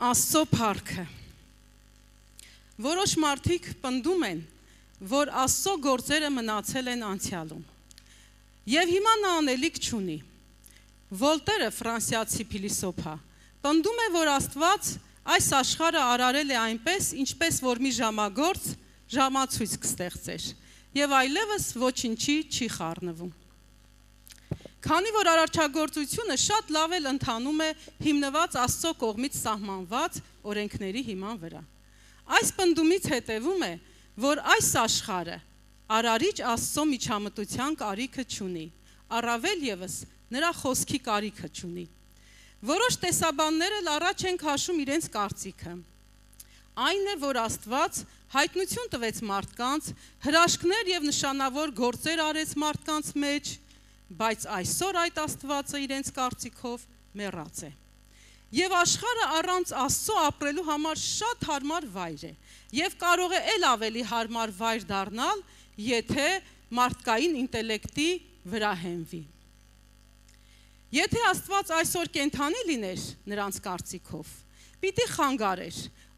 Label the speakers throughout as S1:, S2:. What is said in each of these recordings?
S1: Աստծո փառքը։ Որոշ մարդիկ պնդում են, որ Աստծո գործերը մնացել են անցյալում։ Եվ հիմա նա անելիք չունի։ Վոլտերը, ֆրանսիացի փիլիսոփա, պնդում է, որ Աստված այս աշխարհը արարել է այնպես, ինչպես որ մի ժամագործ ժամացույց կստեղծեր, եւ այլևս ոչինչի չի խառնվում։ Քանի որ արարչագործությունը շատ լավ էլ ընթանում է հիմնված Աստծո կողմից սահմանված օրենքների հիման վրա։ Այս պնդումից հետևում է, որ այս աշխարհը արարիչ Աստծո միջամտության կարիքը չունի, առավել ևս նրա խոսքի կարիքը չունի։ Որոշ տեսաբաններ էլ առաջ են քաշում իրենց կարծիքը։ Այն է, որ Աստված հայտնություն տվեց մարդկանց, հրաշքներ եւ նշանավոր գործեր արեց մարդկանց մեջ, բայց այսօր այդ Աստվածը իրենց կարծիքով մեռած է։ Եվ աշխարհը առանց Աստծո ապրելու համար շատ հարմար վայր է, եւ կարող է ել ավելի հարմար վայր դառնալ, եթե մարդկային ինտելեկտի վրա հենվի։ Եթե Աստված այսօր կենդանի լիներ նրանց կարծիքով, պիտի խանգարեր,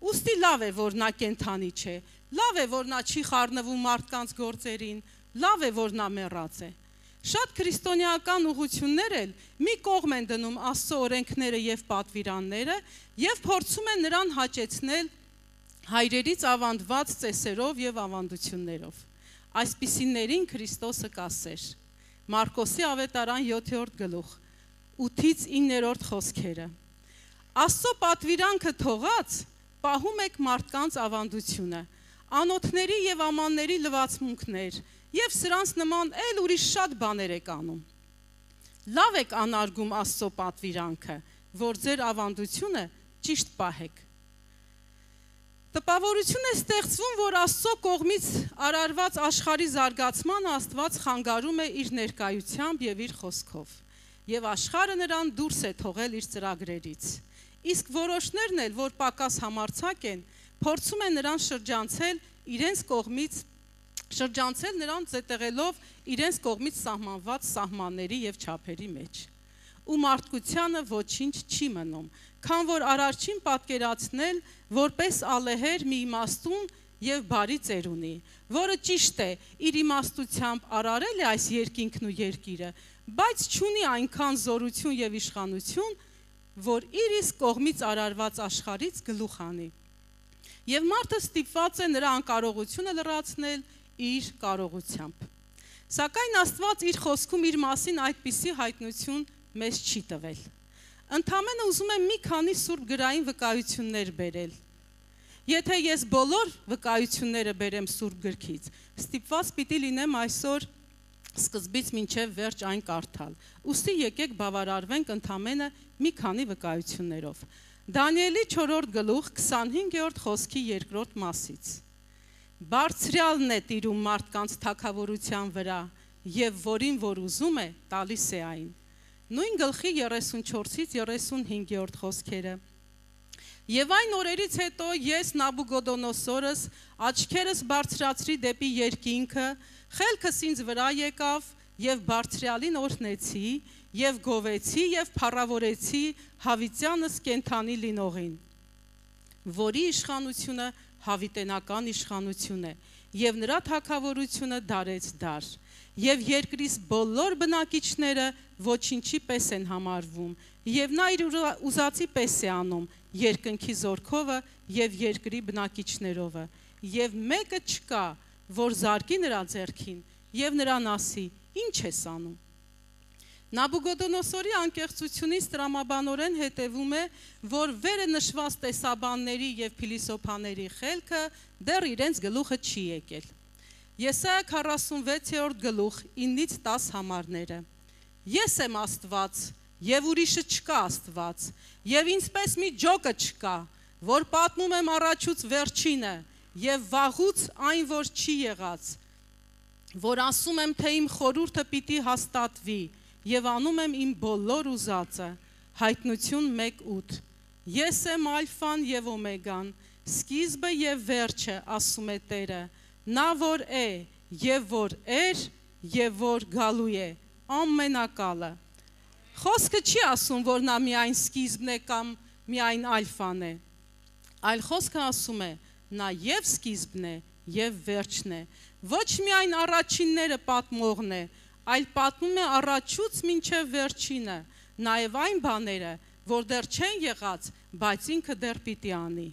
S1: ուստի լավ է, որ նա կենդանի չէ, լավ է, որ նա չի խառնվում մարդկանց գործերին, լավ է, որ նա մեռած է։ Շատ քրիստոնեական ուղղություններ էլ մի կողմ են դնում Աստծո օրենքները եւ պատվիրանները եւ փորձում են նրան հաճեցնել հայրերից ավանդված ծեսերով եւ ավանդություններով։ Այսպիսիներին Քրիստոսը կասեր։ Մարկոսի ավետարան 7-րդ գլուխ 8-ից 9-րդ խոսքերը։ Աստծո պատվիրանքը թողած պահում եք մարդկանց ավանդությունը, անոթների եւ ամանների լվացմունքներ եւ սրանց նման էլ ուրիշ շատ բաներ եք անում։ Լավ եք անարգում Աստծո պատվիրանքը, որ ձեր ավանդությունը ճիշտ պահեք։ Տպավորություն է ստեղծվում, որ Աստծո կողմից արարված աշխարհի զարգացման Աստված խանգարում է իր ներկայությամբ եւ իր խոսքով, եւ աշխարհը նրան դուրս է թողել իր ծրագրերից։ Իսկ որոշներն էլ, որ պակաս համարձակ են, փորձում են նրան շրջանցել նրան զետեղելով իրենց կողմից սահմանված սահմանների եւ չափերի մեջ։ Ու մարդկությանը ոչինչ չի մնում, քան որ արարչին պատկերացնել որպես ալեհեր մի իմաստուն եւ բարի ծեր ունի, որը ճիշտ է իր իմաստությամբ արարել է այս երկինքն ու երկիրը, բայց չունի այնքան զորություն եւ իշխանություն, որ իր իսկ կողմից արարված աշխարհից գլուխ անի։ Եվ մարդը ստիպված է նրա անկարողությունը լրացնել իր կարողությամբ։ Սակայն Աստված իր խոսքում իր մասին այդպիսի հայտնություն մեզ չի տվել։ Ընդամենը ուզում եմ մի քանի սուրբ գրային վկայություններ բերել։ Եթե ես բոլոր վկայությունները բերեմ սուրբ գրքից, ստիպված պիտի լինեմ այսօր սկզբից մինչև վերջ այն կարդալ։ Ուստի եկեք բավարարվենք ընդամենը մի քանի վկայություններով։ Դանիելի 4-րդ գլուխ 25-րդ խոսքի 2-րդ մասից։ Բարձրյալն է տիրում մարդկանց թագավորության վրա, եւ որին որ ուզում է, տալիս է այն։ Նույն գլխի 34-ից 35-րդ խոսքերը։ Եվ այն օրերից հետո ես Նաբուգոդոնոսորս աչքերս բարձրացրի դեպի երկինքը, խելքս ինձ վրա եկավ եւ բարձրյալին օրհնեցի եւ գովեցի եւ փառավորեցի հավիտյանս կենդանի լինողին, որի իշխանությունը հավիտենական իշխանություն է, եւ նրա թագավորությունը դարեց դար, եւ երկրիս բոլոր բնակիչները ոչինչի պես են համարվում, եւ նա իր ուզածի պես է անում երկնքի զորքովը եւ երկրի բնակիչներովը, եւ մեկը չկա, որ զարկի նրա ձեռքին եւ նրան ասի. ինչ ես անում։ Նաբուգոդոնոսորի անկեղծությունից տրամաբանորեն հետևում է, որ վերը նշված տեսաբանների եւ փիլիսոփաների խելքը դեռ իրենց գլուխը չի եկել։ Եսայա 46-րդ գլուխ 9-ից 10 համարները։ Ես եմ Աստված, եւ ուրիշը չկա Աստված, եւ ինձպես մի ջոկը չկա, որ պատմում եմ առաջուց վերջինը, եւ վաղուց այն, որ չի եղած, որ ասում եմ, թե իմ խորհուրդը պիտի հաստատվի, եւ անում եմ իմ բոլոր ուզածը։ Հայտնություն 1:8։ Ես եմ ալֆան եւ օմեգան, սկիզբը եւ վերջը, ասում է Տերը, նա որ է եւ որ էր եւ որ գալու է, ամենակալը։ Խոսքը չի ասում, որ նա միայն սկիզբն է կամ միայն ալֆան է, այլ խոսքը ասում է, նա եւ սկիզբն է, եւ վերջն է։ Ոչ միայն առաջինները պատմողն է, այլ պատմում է առաջուց մինչև վերջինը, նաեւ այն բաները, որ դեռ չեն եղած, բայց ինքը դեռ պիտի անի։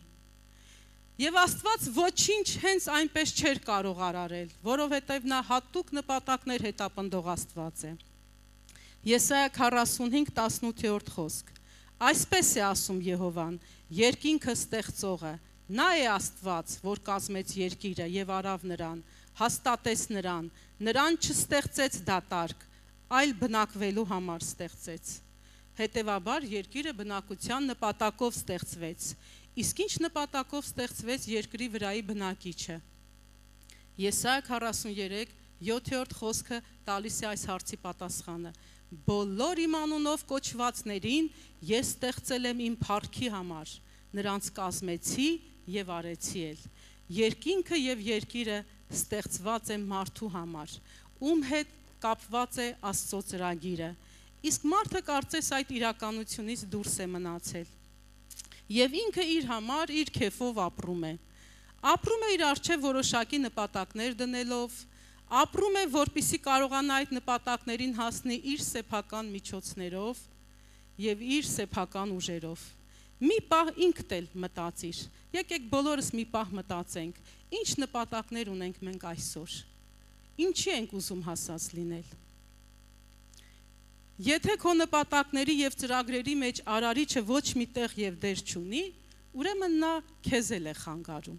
S1: Եվ Աստված ոչինչ հենց այնպես չէր կարող արարել, որովհետև նա հատուկ նպատակներ հետապնդող Աստված է։ Եսայա 45:18 խոսք։ Այսպես է ասում Եհովան, երկինքը ստեղծողը, նա է Աստված, որ կազմեց երկիրը եւ արավ նրան, հաստատեց նրան չստեղծեց դատարկ, այլ բնակվելու համար ստեղծեց։ Հետևաբար երկիրը բնակության նպատակով ստեղծվեց։ Իսկ ինչ նպատակով ստեղծվեց երկրի վրայի բնակիչը։ Եսայա 43:7 խոսքը տալիս է այս հարցի պատասխանը։ Բոլոր իմ անունով կոչվածներին ես ստեղծել եմ իմ փառքի համար, նրանց կազմեցի եւ արեցի էլ։ Երկինքը եւ երկիրը ստեղծված է մարդու համար, ում հետ կապված է Աստծո ծրագիրը։ Իսկ մարդը կարծես այդ իրականությունից դուրս է մնացել։ Եվ ինքը իր համար իր քեֆով ապրում է։ Ապրում է իր առջև որոշակի նպատակներ դնելով, ապրում է, որպեսզի կարողանա այդ նպատակներին հասնի իր սեփական միջոցներով եւ իր սեփական ուժերով։ Մի պահ ինքդ էլ մտածիր։ Եկեք բոլորս մի պահ մտածենք, ինչ նպատակներ ունենք մենք այսօր։ Ինչի ենք ուզում հասած լինել։ Եթե քո նպատակների եւ ծրագրերի մեջ արարիչը ոչ մի տեղ եւ դեր չունի, ուրեմն նա քեզ էլ է խանգարում։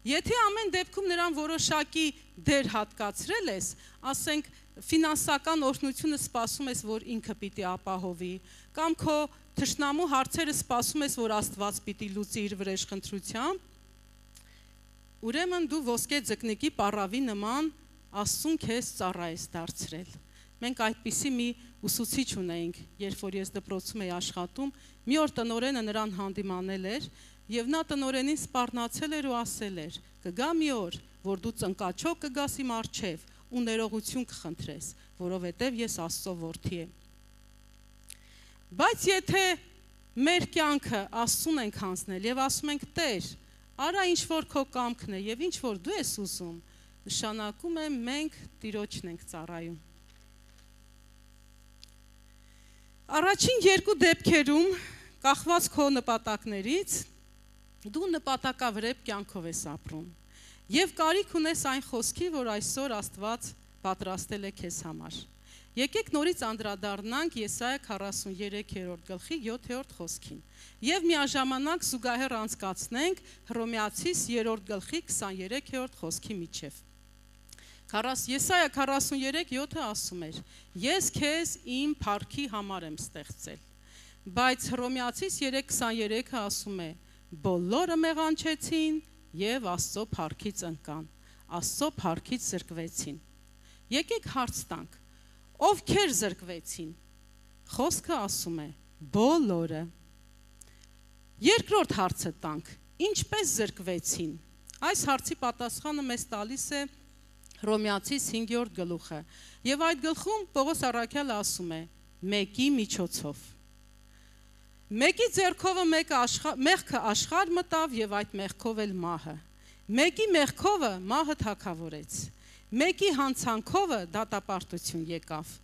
S1: Եթե ամեն դեպքում նրան որոշակի դեր հատկացրել ես, ասենք ֆինանսական օրհնությունը սպասում ես, որ ինքը պիտի ապահովի, կամ քո թշնամու հարցերը սպասում ես, որ Աստված պիտի լուծի իր վրեժխնդրությամբ, ուրեմն դու ոսկե ձկնիկի պառավի նման Աստծուն քեզ ծառա ես դարձրել։ Մենք այդպիսի մի ուսուցիչ ունեինք, երբ որ ես դպրոցում էի աշխատում, մի օր տնօրենը նրան հանդիմանել էր եւ նա տնօրենին սպառնացել էր ու ասել էր. «Կգա մի օր, որ դու ծնկաչոք կգաս իմ առջև ու ներողություն կխնդրես, որովհետեւ ես Աստծո որդի եմ»։ Բայց եթե մեր կյանքը Աստծուն ենք հանձնել եւ ասում ենք. «Տեր, արա ինչ որ քո կամքն է եւ ինչ որ դու ես ուզում», նշանակում է մենք Տիրոջն ենք ծառայում։ Առաջին երկու դեպքերում, կախված քո նպատակներից, դու նպատակավրեպ կյանքով ես ապրում եւ կարիք ունես այն խոսքի, որ այսօր Աստված պատրաստել է քեզ համար։ Եկեք նորից անդրադառնանք Եսայա 43:7 խոսքին եւ միաժամանակ զուգահեռ անցկացնենք Հռոմեացիս 3:23 խոսքի միջև։ Եսայա 43:7 ասում էր. «Ես քեզ իմ փառքի համար եմ ստեղծել», բայց Հռոմեացիս 3:23 ասում է. «Բոլորը մեղանչեցին եւ Աստծո փառքից ընկան, Աստծո փառքից զրկվեցին»։ Եկեք հարց տանք. ովքեր զրկվեցին։ Խոսքը ասում է բոլորը։ Երկրորդ հարցը տանք. ինչպես զրկվեցին։ Այս հարցի պատասխանը մեզ տալիս է Հռոմեացիս 5-րդ գլուխը։ Եվ այդ գլխում Պողոս առաքյալը ասում է. մեկի միջոցով։ Մեկի ձեռքովը մեղքը աշխարհ մտավ եւ այդ մեղքով էլ մահը։ Մեկի մեղքովը մահը թագավորեց։ Մեկի հանցանքովը դատապարտություն եկավ։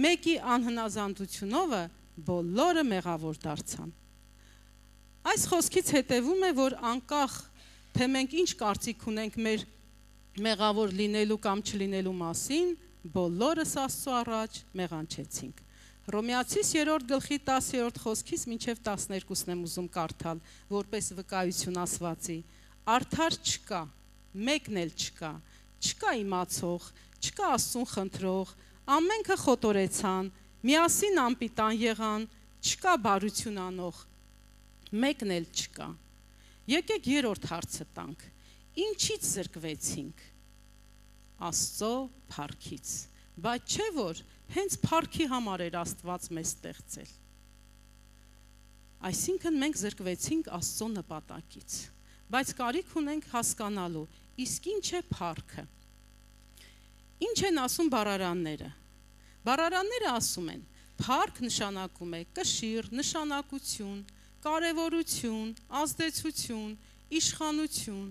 S1: Մեկի անհնազանդությունովը բոլորը մեղավոր դարձան։ Այս խոսքից հետևում է, որ անկախ թե մենք ինչ կարծիք ունենք մեր մեղավոր լինելու կամ չլինելու մասին, բոլորս Աստծո առաջ մեղանչեցինք։ Հռոմեացիս 3:10 խոսքից մինչև 12-ն եմ ուզում կարդալ, որպես վկայություն ասվածի։ Արդար չկա, մեկն էլ չկա, չկա իմացող, չկա Աստծուն խնդրող, ամենքը խոտորեցան, միասին անպիտան եղան, չկա բարություն անող, մեկն էլ չկա։ Եկեք երրորդ հարցը տանք. ինչից զրկվեցինք։ Աստծո փառքից։ Բայց չէ որ հենց փառքի համար էր Աստված մեզ ստեղծել։ Այսինքն մենք զրկվեցինք Աստծո նպատակից։ Բայց կարիք ունենք հասկանալու, իսկ ինչ է փառքը։ Ինչ են ասում բառարանները։ Բառարանները ասում են, փառք նշանակում է կշիռ, նշանակություն, կարևորություն, ազդեցություն, իշխանություն։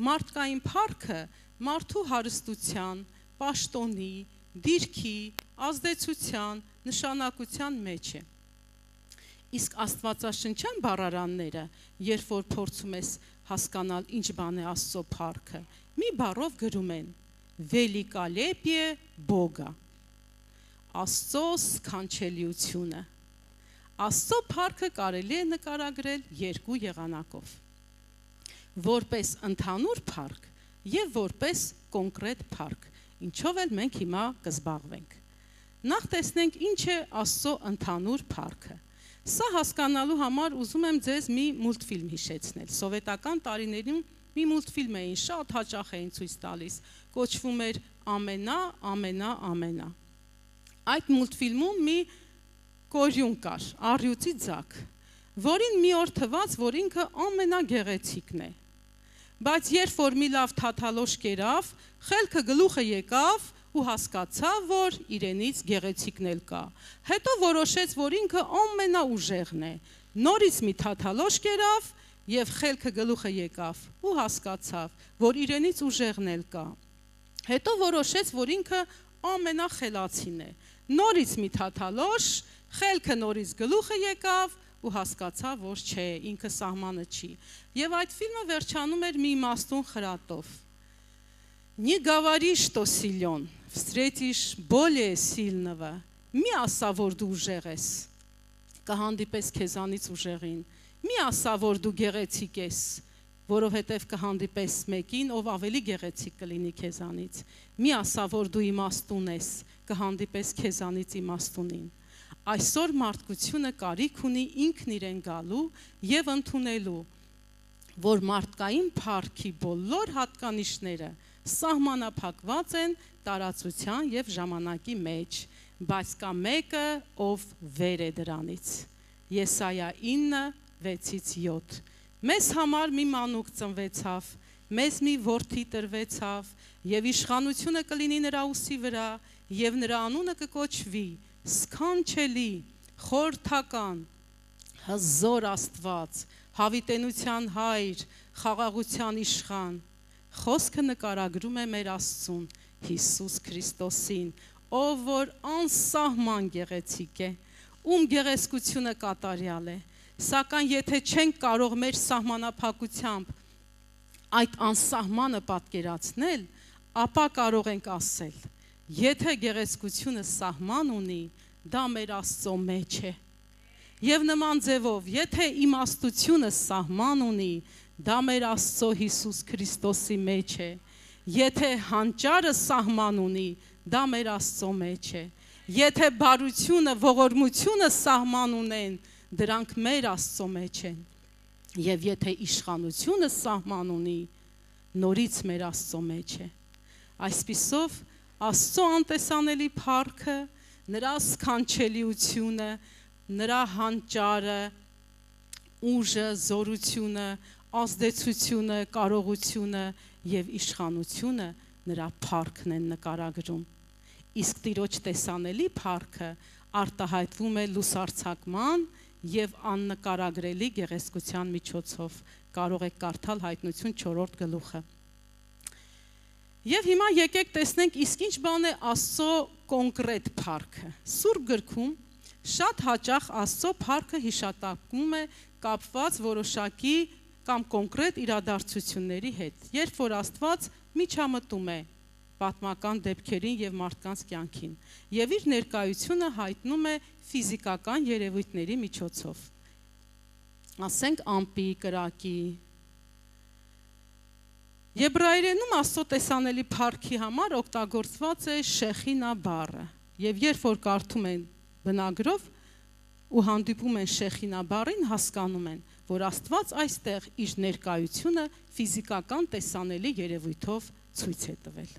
S1: Մարդկային փառքը մարդու հարստության, պաշտոնի, դիրքի, ազդեցության, նշանակության մեջ է։ Իսկ աստվածաշնչյան բառարանները, երբ որ փորձում ես հասկանալ ինչ բան է Աստծո փառքը, մի բառով գրում են «Великолепие Бога», Աստծո սքանչելիությունը։ Աստծո փառքը կարելի է նկարագրել երկու եղանակով՝ որպես ընդհանուր փառք եւ որպես կոնկրետ փառք, ինչով էլ մենք հիմա կզբաղվենք։ Նախ տեսնենք ինչ է Աստծո ընդհանուր փառքը։ Սա հասկանալու համար ուզում եմ ձեզ մի մուլտֆիլմ հիշեցնել։ Սովետական տարիներին մի մուլտֆիլմ էին, շատ հաճախ էին ցույց տալիս, կոչվում էր «Ամենա, ամենա, ամենա»։ Այդ մուլտֆիլմում մի կորյուն կար, առյուծի ձակ, որին մի օր թվաց, որ ինքը ամենագեղեցիկն է։ Բայց երբ որ մի լավ թաթալոշ կերավ, խելքը գլուխը եկավ ու հասկացավ, որ իրենից գեղեցիկն էլ կա։ Հետո որոշեց, որ ինքը ամենաուժեղն է։ Նորից մի թաթալոշ կերավ եւ խելքը գլուխը եկավ ու հասկացավ, որ իրենից ուժեղն էլ կա։ Հետո որոշեց, որ ինքը ամենախելացին է։ Նորից մի թաթալոշ, խելքը նորից գլուխը եկավ ու հասկացավ, որ չէ, ինքը սահմանը չի։ Եվ այդ ֆիլմը վերջանում էր մի իմաստուն խրատով. «Не говори, что силен, встретишь более сильного, մի ասա, որ դու ուժեղ ես, կհանդիպես քեզանից ուժեղին, մի ասա, որ դու գեղեցիկ ես, որովհետև կհանդիպես մեկին, ով ավելի գեղեցիկ կլինի քեզանից, մի ասա, որ դու իմաստուն ես, կհանդիպես քեզանից իմաստունին»։ Այսօր մարդկությունը կարիք ունի ինքն իրեն գալու եւ ընդունելու, որ մարդկային փառքի բոլոր հատկանիշները սահմանափակված են տարածության եւ ժամանակի մեջ, բայց կա մեկը, ով վեր է դրանից։ Եսայա 9:6-7։ Մեզ համար մի մանուկ ծնվեցավ, մեզ մի որդի տրվեցավ, եւ իշխանությունը կլինի նրա ուսի վրա, եւ նրա անունը կկոչվի Սքանչելի, խորհրդական, հզոր Աստված, հավիտենության հայր, խաղաղության իշխան։ Խոսքը նկարագրում է մեր Աստծուն, Հիսուս Քրիստոսին, ով որ անսահման գեղեցիկ է, ում գեղեցկությունը կատարյալ է, սակայն եթե չենք կարող մեր սահմանափակությամբ այդ անսահմանը պատկերացնել, ապա կարող ենք ասել. եթե գեղեցկությունը սահման ունի, դա մեր Աստծո մեջ է։ Եվ նման ձևով, եթե իմաստությունը սահման ունի, դա մեր Աստծո Հիսուս Քրիստոսի մեջ է։ Եթե հանճարը սահման ունի, դա մեր Աստծո մեջ է։ Եթե բարությունը, ողորմությունը սահման ունեն, դրանք մեր Աստծո մեջ են։ Եվ եթե իշխանությունը սահման ունի, նորից մեր Աստծո մեջ է։ Այսպիսով Աստծո անտեսանելի փառքը, նրա սքանչելիությունը, նրա հանճարը, ուժը, զորությունը, ազդեցությունը, կարողությունը եւ իշխանությունը նրա փառքն են նկարագրում։ Իսկ Տիրոջ տեսանելի փառքը արտահայտվում է լուսարձակման եւ աննկարագրելի գեղեցկության միջոցով։ Կարող եք կարդալ Հայտնություն 4-րդ գլուխը։ Եվ հիմա եկեք տեսնենք, իսկ ինչ բան է Աստծո կոնկրետ փառքը։ Սուրբ գրքում շատ հաճախ Աստծո փառքը հիշատակվում է կապված որոշակի կամ կոնկրետ իրադարձությունների հետ, երբ որ Աստված միջամտում է պատմական դեպքերին եւ մարդկանց կյանքին, եւ իր ներկայությունը հայտնում է ֆիզիկական երևույթների միջոցով։ Ասենք ամպի, կրակի։ Եբրայերենում Աստծո տեսանելի փառքի համար օգտագործված է շեխինա բառը, եւ երբ որ կարդում են բնագրով ու հանդիպում են շեխինա բառին, հասկանում են, որ Աստված այստեղ իր ներկայությունը ֆիզիկական տեսանելի երևույթով ցույց է տվել։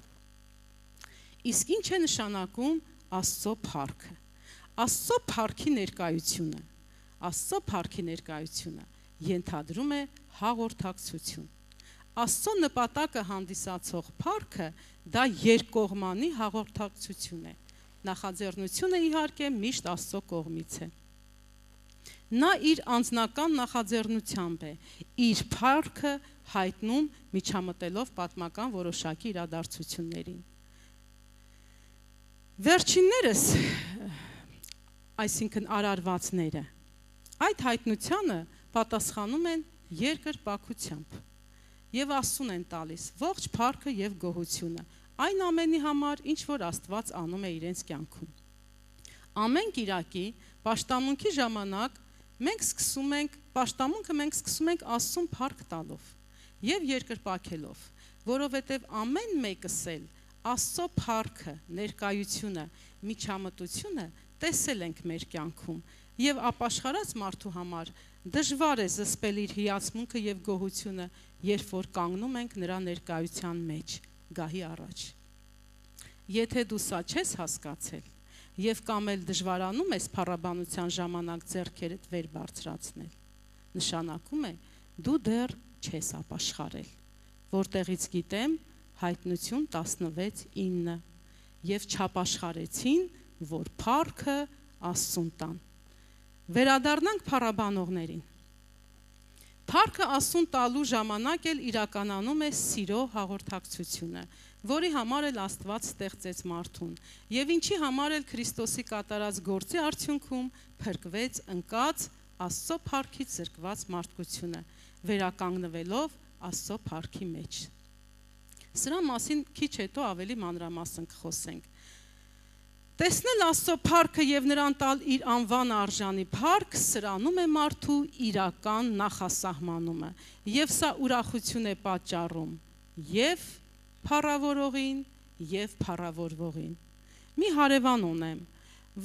S1: Իսկ ինչ է նշանակում Աստծո փառքը։ Աստծո փառքի ներկայությունը, Աստծո փառքի ներկայությունը ենթադրում է հաղորդակցություն։ Աստծո նպատակը հանդիսացող փառքը դա երկկողմանի հաղորդակցություն է։ Նախաձեռնությունը իհարկե միշտ Աստծո կողմից է։ Նա իր անձնական նախաձեռնությամբ է իր փառքը հայտնում միջամտելով պատմական որոշակի իրադարձություններին։ Վերջիններս, այսինքն արարվածները, այդ հայտնությանը պատասխանում են երկրպագությամբ եւ ասուն են տալիս ողջ փառքը եւ գոհությունը այն ամենի համար, ինչ որ Աստված անում է իրենց կյանքում։ Ամեն կիրակի պաշտամունքի ժամանակ մենք սկսում ենք Աստծուն փառք տալով եւ երկրպագելով, որովհետեւ ամեն մեկս էլ Աստծո փառքը, ներկայությունը, միջամտությունը տեսել ենք մեր կյանքում եւ ապաշխարած մարդու համար դժվար է զսպել իր հիացմունքը եւ գոհությունը, երբ որ կանգնում ենք նրա ներկայության մեջ, գահի առաջ։ Եթե դու սա չես հասկացել եւ կամ էլ դժվարանում ես փառաբանության ժամանակ ձեռքերդ վեր բարձրացնել, նշանակում է դու դեռ չես ապաշխարել, որտեղից գիտեմ Հայտնություն 16:9 եւ չապաշխարեցին, որ փառքը Աստծուն տան։ Վերադառնանք փառաբանողներին։ Փառքը Աստծուն տալու ժամանակ էլ իրականանում է սիրո հաղորդակցությունը, որի համար էլ Աստված ստեղծեց մարդուն, եւ ինչի համար էլ Քրիստոսի կատարած գործի արդյունքում փրկվեց ընկած Աստծո փառքից զրկված մարդկությունը, վերականգնվելով Աստծո փառքի մեջ։ Սրա մասին քիչ հետո ավելի մանրամասն կխոսենք։ Տեսնել Աստծո փառքը եւ նրան տալ իր անվան արժանի փառք սրանում է մարդու իրական նախասահմանումը, եւ սա ուրախություն է պատճառում եւ փառավորողին եւ փառավորվողին։ Մի հարևան ունեմ,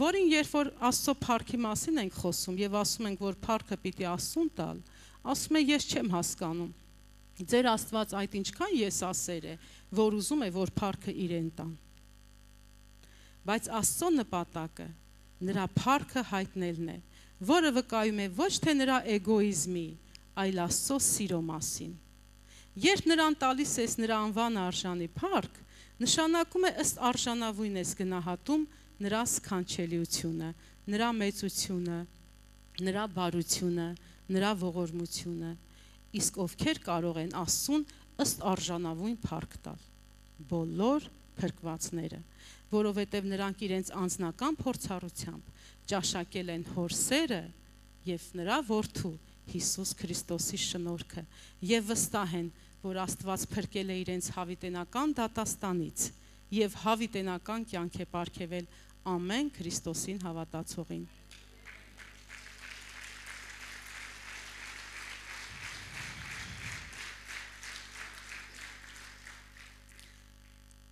S1: որին երբ որ Աստծո փառքի մասին ենք խոսում եւ ասում ենք, որ փառքը պիտի Աստծուն տալ, ասում է ես չեմ հասկանում։ Ձեր Աստված այդ ինչքան եսասեր է, որ ուզում է, որ փառքը իրեն տան։ Բայց Աստծո նպատակը նրա փառքը հայտնելն է, որը վկայում է ոչ թե նրա էգոիզմի, այլ Աստծո սիրո մասին։ Երբ նրան տալիս ես նրա անվան արժանի փառք, նշանակում է ըստ արժանավույն ես գնահատում նրա սքանչելիությունը, նրա մեծությունը, նրա բարությունը, նրա ողորմությունը, իսկ ովքեր կարող են Աստծուն ըստ արժանավույն փառք տալ։ Բոլոր փրկվածները, որովհետև նրանք իրենց անձնական փորձառությամբ ճաշակել են Հոր սերը եւ նրա որդու Հիսուս Քրիստոսի շնորհքը եւ վստահ են, որ Աստված փրկել է իրենց հավիտենական դատաստանից եւ հավիտենական կյանք է պարգևել ամեն Քրիստոսին հավատացողին։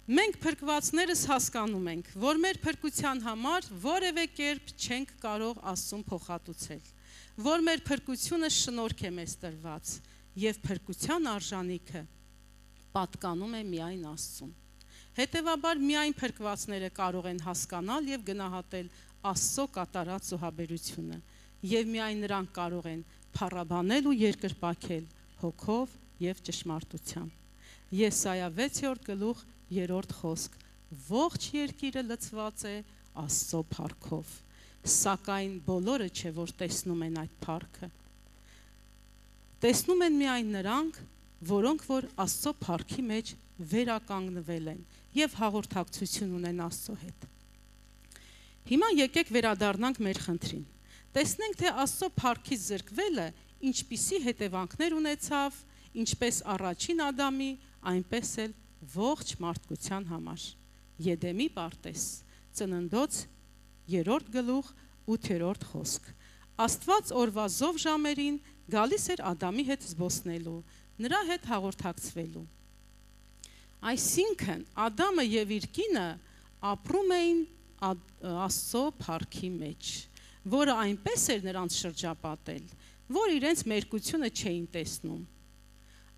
S1: Մենք փրկվածներս հասկանում ենք, որ մեր փրկության համար որևէ կերպ չենք կարող Աստծուն փոխհատուցել, որ մեր փրկությունը շնորհք է մեզ տրված եւ փրկության արժանիքը պատկանում է միայն Աստծուն։ Հետևաբար միայն փրկվածները կարող են հասկանալ եւ գնահատել Աստծո կատարած զոհաբերությունը եւ միայն նրանք կարող են փառաբանել ու երկրպագել հոգով եւ ճշմարտությամբ։ Եսայա 6:3 խոսք. Ողջ երկիրը լցված է Աստծո փառքով, սակայն բոլորը չէ, որ տեսնում են այդ փառքը։ Տեսնում են միայն նրանք, որոնք որ Աստծո փառքի մեջ վերականգնվել են եւ հաղորդակցություն ունեն Աստծո հետ։ Հիմա եկեք վերադառնանք մեր խնդրին։ Տեսնենք, թե Աստծո փառքից զրկվելը ինչպիսի հետևանքներ ունեցավ, ինչպես առաջին Ադամի, այնպես էլ ողջ մարդկության համար։ Եդեմի պարտեզ, Ծննդոց 3:8 խոսք։ Աստված օրվա զով ժամերին գալիս էր Ադամի հետ զբոսնելու, նրա հետ հաղորդակցվելու։ Այսինքն Ադամը եւ իր կինը ապրում էին Աստծո փառքի մեջ, որը այնպես էր նրանց շրջապատել, որ իրենց մերկությունը չէին տեսնում։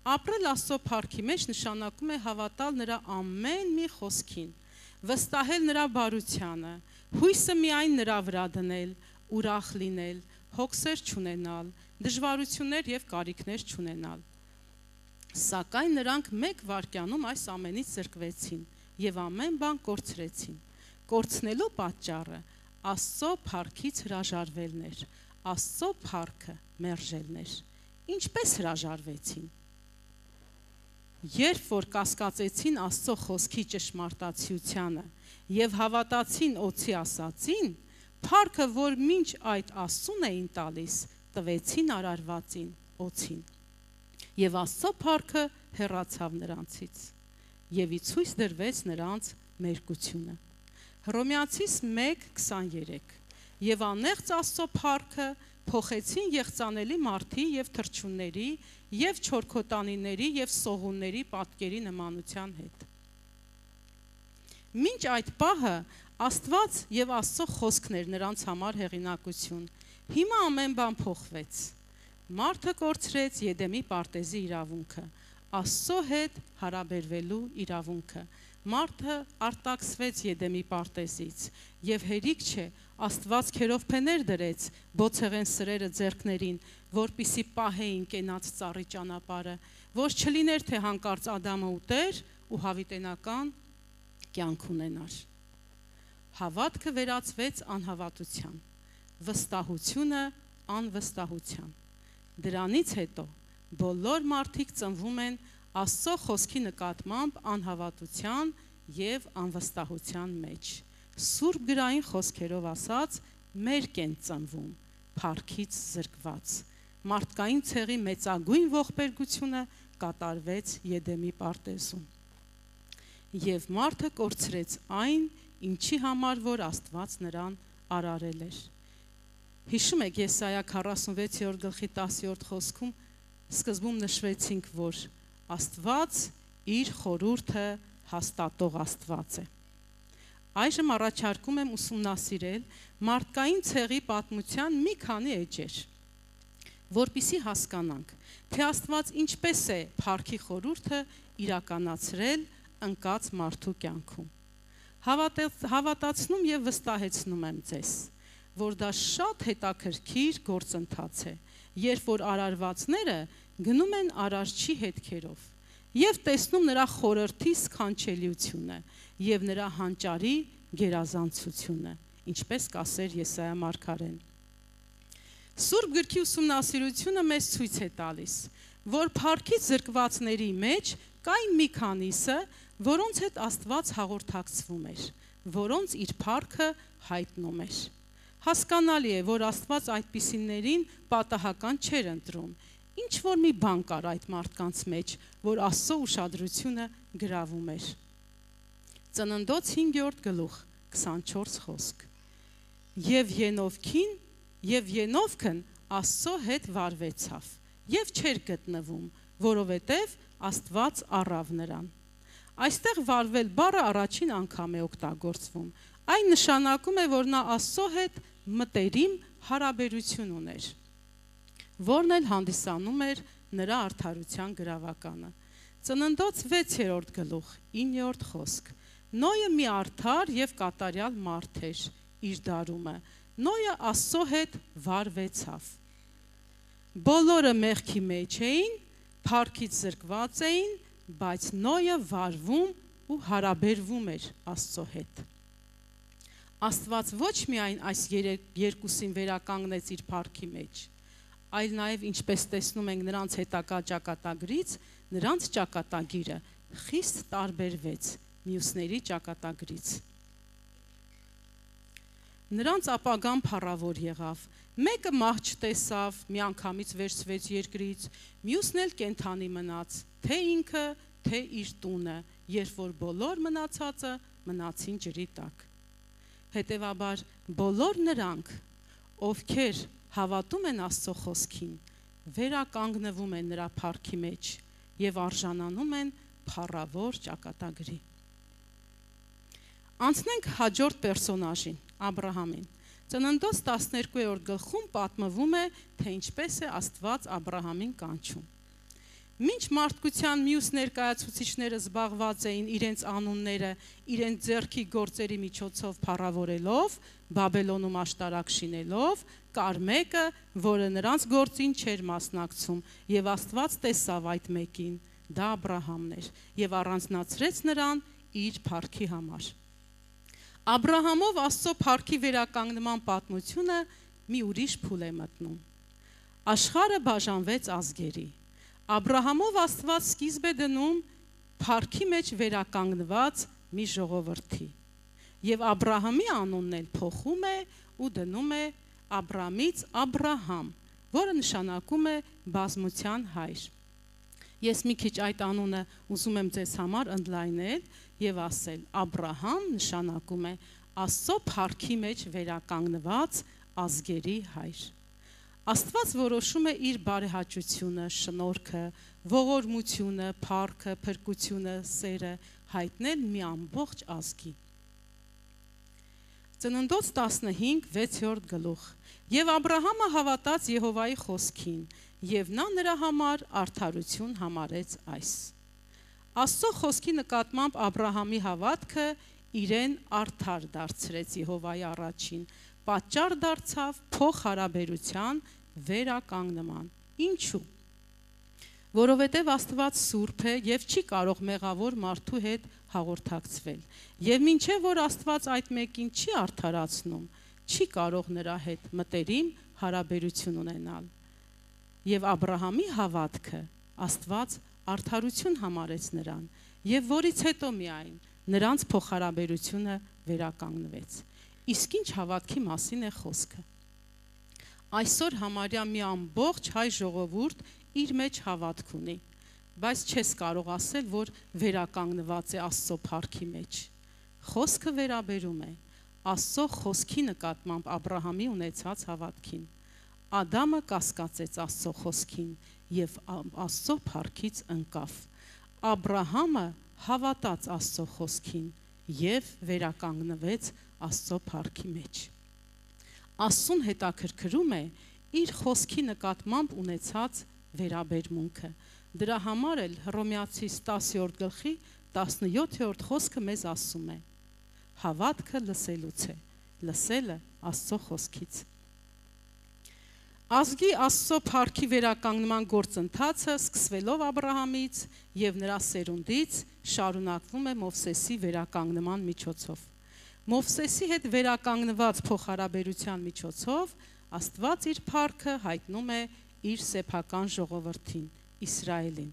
S1: Ապրել Աստծո փառքի մեջ նշանակում է հավատալ նրա ամեն մի խոսքին, վստահել նրա բարությանը, հույսը միայն նրա վրա դնել, ուրախ լինել, հոգսեր չունենալ, դժվարություններ եւ կարիքներ չունենալ։ Սակայն նրանք մեկ վայրկյանում այս ամենից զրկվեցին եւ ամեն բան կորցրեցին։ Կորցնելու պատճառը Աստծո փառքից հրաժարվելն էր, Աստծո փառքը մերժելներ։ Ինչպես հրաժարվեցին։ Երբ որ կասկածեցին Աստծո խոսքի ճշմարտացիությանը եւ հավատացին օծի ասացին, փառքը, որ մինչ այդ Աստծուն էին տալիս, տվեցին արարվածին օծին։ Եվ Աստծո փառքը հեռացավ նրանցից, եւ ի ցույց դրվեց նրանց մերկությունը։ Հռոմեացիս 1:23 Եվ անեղծ Աստծո փառքը փոխեցին եղծանելի մարդի եւ թռչունների եւ չորքոտանիների եւ սողունների պատկերի նմանության հետ։ Մինչ այդ պահը Աստված եւ Աստծո խոսքն էր նրանց համար հեղինակություն։ Հիմա ամեն բան փոխվեց։ Մարդը կորցրեց Եդեմի պարտեզի իրավունքը, Աստծո հետ հարաբերվելու իրավունքը։ Մարդը արտաքսվեց Եդեմի պարտեզից եւ հերիք չէ Աստված քերովփեներ դրեց բոցեղեն սրերը ձեռքներին, որպիսի պահեին կենաց ծառի ճանապարհը, որ չլիներ թե հանկարծ Ադամը ուտեր ու հավիտենական կյանք ունենար։ Հավատքը վերածվեց անհավատության, վստահությունը անվստահության։ Դրանից հետո բոլոր մարդիկ ծնվում են Աստծո խոսքի նկատմամբ անհավատության եւ անվստահության մեջ։ Սուրբ գրային խոսքերով ասած, մերկ են ծնվում, փառքից զրկված։ Մարդկային ցեղի մեծագույն ողբերգությունը կատարվեց Եդեմի պարտեզում։ Եվ մարդը կորցրեց այն, ինչի համար որ Աստված նրան արարել էր։ Հիշում եք Եսայա 46-րդ գլխի 10-րդ խոսքում սկզբում նշվեցինք, որ Աստված իր խորհուրդը հաստատող Աստված է։ Այժմ առաջարկում եմ ուսումնասիրել մարդկային ցեղի պատմության մի քանի էջեր, որպեսզի հասկանանք, թե Աստված ինչպես է փառքի խորհուրդը իրականացրել ընկած մարդու կյանքում։ Հավատացնում եւ վստահեցնում եմ ձեզ, որ դա շատ հետաքրքիր գործընթաց է, երբ որ արարվածները գնում են արարչի հետքերով եւ տեսնում նրա խորհրդի սքանչելիությունը եւ նրա հանճարի գերազանցությունը, ինչպես կասեր Եսայա մարգարեն։ Սուրբ գրքի ուսումնասիրությունը մեզ ցույց է տալիս, որ փառքից զրկվածների մեջ կային մի քանիսը, որոնց հետ Աստված հաղորդակցվում էր, որոնց իր փառքը հայտնում էր։ Հասկանալի է, որ Աստված այդպիսիներին պատահական չէր ընտրում։ Ինչ որ մի բան կար այդ մարդկանց մեջ, որ Աստծո ուշադրությունը գրավում էր։ Ծննդոց 5-րդ գլուխ 24 խոսք։ Եվ Ենովքն Աստծո հետ վարվեցավ եւ չէր գտնվում, որովհետեւ Աստված առավ նրան։ Այստեղ վարվել բառը առաջին անգամ է օգտագործվում։ Այն նշանակում է, որ նա Աստծո հետ մտերիմ հարաբերություն ուներ, որն էլ հանդիսանում էր նրա արդարության գրավականը։ Ծննդոց 6-րդ գլուխ 9-րդ խոսք։ Նոյը մի արդար եւ կատարյալ մարդ էր իր դարումը։ Նոյը Աստծո հետ վարվեցավ։ Բոլորը մեղքի մեջ էին, փառքից զրկված էին, բայց Նոյը վարվում ու հարաբերվում էր Աստծո հետ։ Աստված ոչ միայն այս երկուսին վերականգնեց իր փառքի մեջ, այլ նաև ինչպես տեսնում ենք նրանց հետագա ճակատագրից, նրանց ճակատագիրը խիստ տարբերվեց մյուսների ճակատագրից։ Նրանց ապագան փառավոր եղավ։ Մեկը մահ չտեսավ, միանգամից վերցվեց երկրից, մյուսն էլ կենդանի մնաց, թե ինքը, թե իր տունը, երբ որ բոլոր մնացածը մնացին ջրի տակ։ Հետևաբար բոլոր նրանք, ովքեր հավատում են Աստծո խոսքին, վերականգնվում են նրա փառքի մեջ եւ արժանանում են փառավոր ճակատագրի։ Անցնենք հաջորդ պերսոնաժին, Աբրահամին։ Ծննդոց 12-րդ գլխում պատմվում է, թե ինչպես է Աստված Աբրահամին կանչում։ Մինչ մարդկության մյուս ներկայացուցիչները զբաղված էին իրենց անունները իրենց ձեռքի գործերի միջոցով փառավորելով, Բաբելոնում աշտարակ շինելով, կար մեկը, որը նրանց գործին չէր մասնակցում, եւ Աստված տեսավ այդ մեկին, դա Աբրահամն էր, եւ առանձնացրեց նրան իր փառքի համար։ Աբրահամով Աստծո փառքի վերականգնման պատմությունը մի ուրիշ փուլ է մտնում։ Աշխարհը բաժանվեց ազգերի։ Աբրահամով Աստված սկիզբ է դնում փառքի մեջ վերականգնված մի ժողովրդի։ Եվ Աբրահամի անունն էլ փոխում է ու դնում է Աբրամից Աբրահամ, որը նշանակում է բազմության հայր։ Ես մի քիչ այդ անունը ուզում եմ ձեզ համար ընդլայնել եւ ասել. Աբրահամ նշանակում է Աստծո փառքի մեջ վերականգնված ազգերի հայր։ Աստված որոշում է իր բարեհաճությունը, շնորհքը, ողորմությունը, փառքը, փրկությունը, սերը հայտնել մի ամբողջ ազգի։ Ծննդոց 15:6 գլուխ։ Եվ Աբրահամը հավատաց Եհովայի խոսքին, եւ նա նրա համար արդարություն համարեց այս։ Աստծո խոսքի նկատմամբ Աբրահամի հավատքը իրեն արդար դարձրեց Եհովայի առաջին, պատճառ դարձավ փոխհարաբերության վերականգնման։ Ինչու՞։ Որովհետև Աստված սուրբ է եւ չի կարող մեղավոր մարդու հետ հաղորդակցվել։ Եվ մինչև որ Աստված այդ մեկին չի արդարացնում, չի կարող նրա հետ մտերիմ հարաբերություն ունենալ։ Եվ Աբրահամի հավատքը Աստված արդարություն համարեց նրան, եւ որից հետո միայն նրանց փոխհարաբերությունը վերականգնվեց։ Իսկ ինչ հավատքի մասին է խոսքը։ Այսօր համարյա մի ամբողջ հայ ժողովուրդ իր մեջ հավատք ունի, բայց չես կարող ասել, որ վերականգնված է Աստծո փառքի մեջ։ Խոսքը վերաբերում է Աստծո խոսքի նկատմամբ Աբրահամի ունեցած հավատքին։ Ադամը կասկածեց Աստծո խոսքին եւ Աստծո փառքից ընկավ։ Աբրահամը հավատաց Աստծո խոսքին եւ վերականգնվեց Աստծո փառքի մեջ։ Աստծուն հետաքրքրում է իր խոսքի նկատմամբ ունեցած վերաբերմունքը։ Դրա համար էլ Հռոմեացիս 10-րդ գլխի 17-րդ խոսքը մեզ ասում է. հավատքը լսելուց է, լսելը Աստծո խոսքից։ Ազգի Աստծո փառքի վերականգնման գործընթացը սկսվելով Աբրահամից եւ նրա սերունդից շարունակվում է Մովսեսի վերականգնման միջոցով։ Մովսեսի հետ վերականգնված փոխհարաբերության միջոցով Աստված իր փառքը հայտնում է իր սեփական ժողովրդին, Իսրայելին։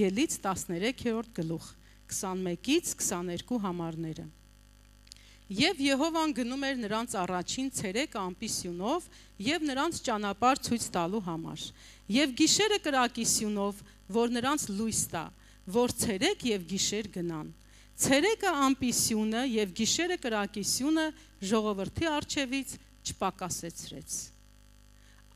S1: Ելից 13-րդ գլուխ, 21-ից 22 համարները։ Եվ Եհովան գնում էր նրանց առաջին ցերեկ ամպի սյունով եւ նրանց ճանապարհ ցույց տալու համար։ Եվ գիշերը կրակի սյունով, որ նրանց լույս տա, որ ցերեկ եւ գիշեր գնան։ Ցերեկը ամպի սյունը եւ գիշերը կրակի սյունը ժողովրդի առջևից չպակասեցրեց։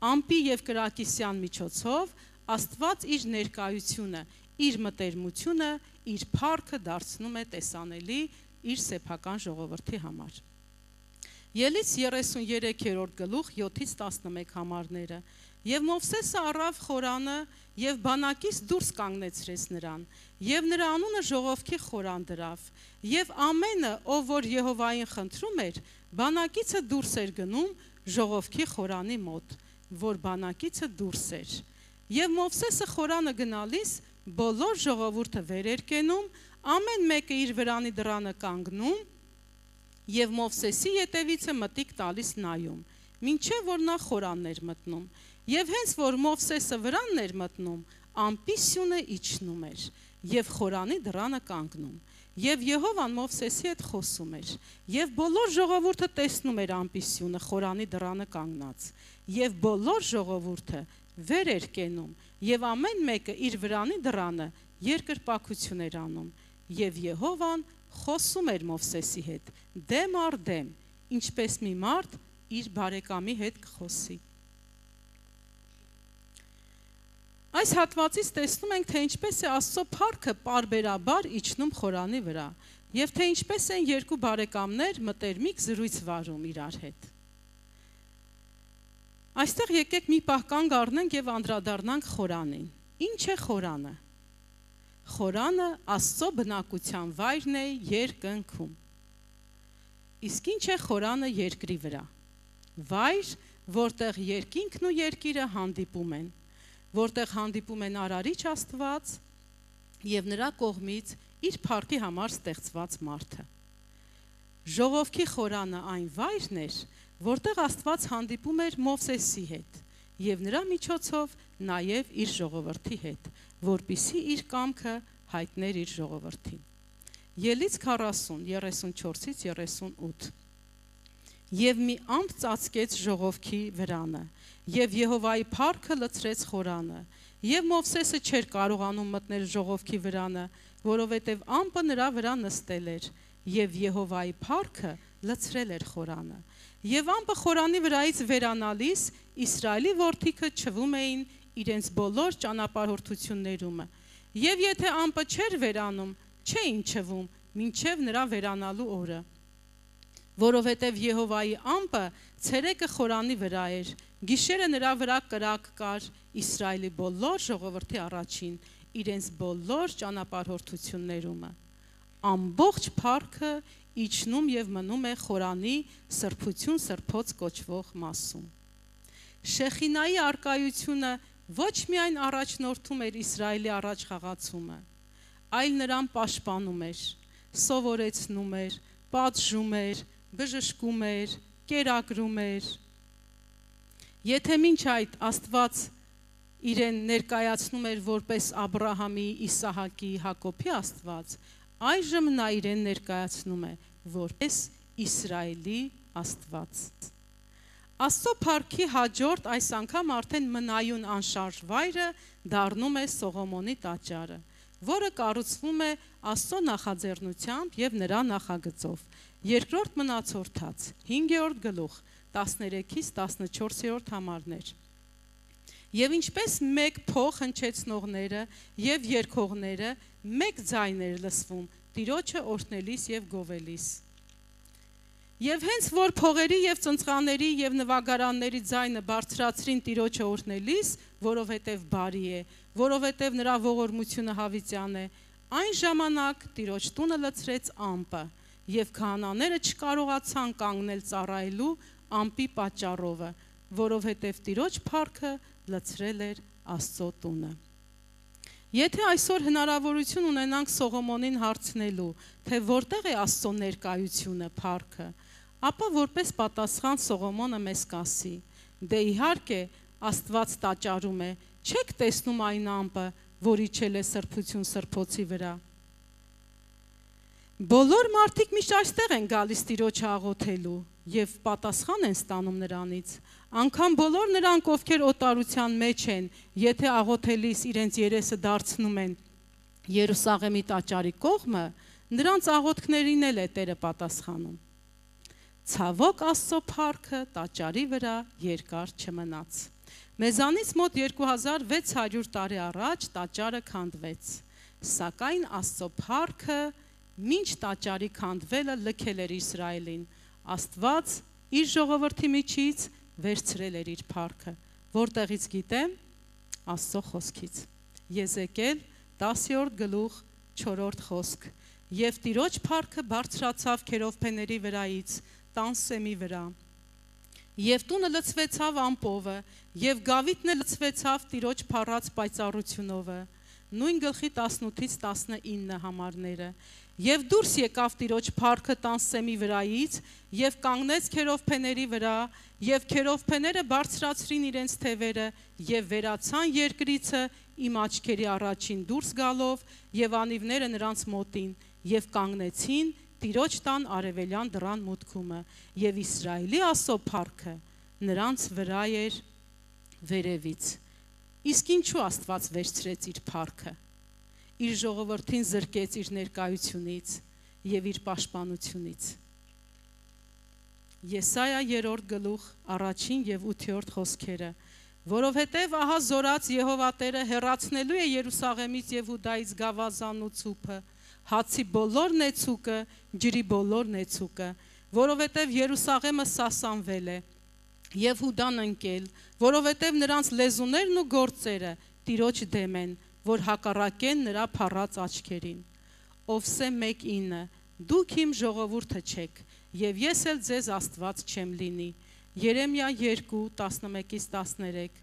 S1: Ամպի եւ կրակիսյան միջոցով Աստված իր ներկայությունը, իր մտերմությունը, իր փառքը դարձնում է տեսանելի իր սեփական ժողովրդի համար։ Ելից 33-րդ գլուխ 7-ից 11 համարները։ Եվ Մովսեսը առավ խորանը եւ բանակից դուրս կանգնեցրեց նրան, եւ նրա անունը ժողովքի խորան դրավ, եւ ամենը, ով որ Եհովային խնդրում էր, բանակիցը դուրս էր գնում ժողովքի խորանի մոտ, որ բանակիցը դուրս էր։ Եվ Մովսեսը խորանը գնալիս բոլոր ժողովուրդը վեր էր կենում, ամեն մեկը իր վրանի դռանը կանգնում եւ Մովսեսի ետևիցը մտիկ տալիս նայում, մինչեւ որ նա խորանն էր մտնում։ Եվ հենց որ Մովսեսը վրանն էր մտնում, ամպի սյունը իջնում էր եւ խորանի դռանը կանգնում։ Եվ Եհովան Մովսեսի հետ խոսում էր, եւ բոլոր ժողովուրդը տեսնում էր ամպի սյունը խորանի դռանը կանգնած, եւ բոլոր ժողովուրդը վեր էր կենում, եւ ամեն մեկը իր վրանի դռանը երկրպագություն էր անում, եւ Եհովան խոսում էր Մովսեսի հետ, դեմ առ դեմ, ինչպես մի մարդ իր բարեկամի հետ կխոսի։ Այս հատվածից տեսնում ենք, թե ինչպես է Աստծո փառքը պարբերաբար իջնում խորանի վրա, եւ թե ինչպես են երկու բարեկամներ մտերմիկ զրույց վարում իրար հետ։ Այստեղ եկեք մի պահ կանգ առնենք եւ անդրադառնանք խորանին։ Ինչ է խորանը։ Խորանը Աստծո բնակության վայրն է երկնքում։ Իսկ ինչ է խորանը երկրի վրա։ Վայր, որտեղ երկինքն ու երկիրը հանդիպում են, որտեղ հանդիպում են Արարիչ Աստված եւ նրա կողմից իր փառքի համար ստեղծված մարդը։ Ժողովքի խորանը այն վայրն էր, որտեղ Աստված հանդիպում էր Մովսեսի հետ եւ նրա միջոցով նաեւ իր ժողովրդի հետ, որպիսի իր կամքը հայտներ իր ժողովրդին։ Ելից 40, 34-ից 38 Եվ մի ամպ ծածկեց ժողովքի վրանը, եւ Եհովայի փառքը լցրեց խորանը, եւ Մովսեսը չէր կարողանում մտնել ժողովքի վրանը, որովհետեւ ամպը նրա վրա նստել էր, եւ Եհովայի փառքը լցրել էր խորանը։ Եվ ամպը խորանի վրայից վերանալիս Իսրայելի որդիքը չվում էին իրենց բոլոր ճանապարհորդություններում, եւ եթե ամպը չէր վերանում, չէին չվում մինչև նրա վերանալու օրը, որովհետև Եհովայի ամպը ցերեկը խորանի վրա էր, գիշերը նրա վրա կրակ կար Իսրայելի բոլոր ժողովրդի առաջին, իրենց բոլոր ճանապարհորդություններում։ Ամբողջ փառքը իջնում եւ մնում է խորանի սրբություն սրբոց կոչվող մասում։ Շեխինայի արկայությունը ոչ միայն առաջնորդում էր Իսրայելի առաջ խաղացումը, այլ նրան պաշտպանում էր, սովորեցնում էր, պատժում էր, բժշկում էր, կերակրում էր։ Եթե մինչ այդ Աստված իրեն ներկայացնում էր որպես Աբրահամի, Իսահակի, Հակոբի Աստված, այժմ նա իրեն ներկայացնում է որպես Իսրայելի Աստված։ Աստծո փառքի հաջորդ այս անգամ արդեն մնայուն անշարժ վայրը դառնում է Սողոմոնի տաճարը, որը կառուցվում է Աստծո նախաձեռնությամբ եւ նրա նախագծով։ Երկրորդ մնացորդաց 5-րդ գլուխ 13-ից 14-րդ համարներ։ Եվ ինչպես մեկ փող հնչեցնողները եւ երգողները մեկ ձայն էր լսվում Տիրոջը օրհնելիս եւ գովելիս։ Եվ հենց որ փողերի եւ ծնծղաների եւ նվագարանների ձայնը բարձրացրին Տիրոջը օրհնելիս, որովհետեւ բարի է, որովհետեւ նրա ողորմությունը հավիտյան է, այն ժամանակ Տիրոջ տունը լցրեց ամպը, եւ քահանաները չկարողացան կանգնել ծառայելու ամպի պատճառով, որովհետեւ Տիրոջ փառքը լցրել էր Աստծո տունը։ Եթե այսօր հնարավորություն ունենանք Սողոմոնին հարցնելու, թե որտեղ է Աստծո ներկայությունը, փառքը, ապա որպես պատասխան Սողոմոնը մեզ կասի. դե իհարկե Աստված տաճարում է, չեք տեսնում այն ամպը, որ իջել է սրբություն սրբոցի վրա։ Բոլոր մարդիկ միշտ այստեղ են գալիս Տիրոջը աղոթելու եւ պատասխան են ստանում նրանից։ Անկամ բոլոր նրանք, ովքեր օտարության մեջ են, եթե աղոթելիս իրենց երեսը դարձնում են Երուսաղեմի տաճարի կողմը, նրանց աղոթքներին էլ է Տերը պատասխանում։ Ցավոք Աստծո փառքը տաճարի վրա երկար չմնաց։ Մեզանից մոտ 2600 տարի առաջ տաճարը քանդվեց, սակայն Աստծո փառքը մինչ տաճարի քանդվելը լքել էր Իսրայելին, Աստված իր ժողովրդի միջից վերցրել էր իր փառքը, որտեղից գիտեմ, Աստծո խոսքից։ Եզեկիել 10-րդ գլուխ 4-րդ խոսք։ Եվ Տիրոջ փառքը բարձրացավ քերովբեների վրայից, տան սեմի վրա։ Եվ տունը լցվեցավ ամպովը, եւ գավիթն էլ լցվեցավ Տիրոջ փառած պայծառությունով։ Նույն գլխի 18-ից 19 համարները։ Եվ դուրս եկավ Տիրոջ փառքը տան սեմի վրայից, եւ կանգնեց քերովբեների վրա, եւ քերովբեները բարձրացրին իրենց թևերը, եւ վերացան երկրիցը իմ աչքերի առաջին դուրս գալով, եւ անիվները նրանց մոտին, եւ կանգնեցին Տիրոջ տան արևելյան դռան մուտքումը, եւ Իսրայելի Աստծո փառքը նրանց վրա էր վերևից։ Իսկ ինչու Աստված վերցրեց իր փառքը, իր ժողովրդին զրկեց իր ներկայությունից եւ իր պաշտպանությունից։ Եսայա 3-րդ գլուխ 1 եւ 8-րդ խոսքերը, որովհետեւ ահա զորած Եհովա Տերը հեռացնելու է Երուսաղեմից եւ Հուդայից գավազանն ու ցուփը, հացի բոլոր նեցուկը, ջրի բոլոր նեցուկը, որովհետեւ Երուսաղեմը սասանվել է եւ Հուդան ընկել, որովհետեւ նրանց լեզուներն ու գործերը Տիրոջ դեմ են, որ հակառակեն նրա փառած աչքերին։ Ովսե 1:9 Դուք իմ ժողովուրդը չեք, եւ ես էլ ձեզ Աստված չեմ լինի։ Երեմիա 2:11-ից 13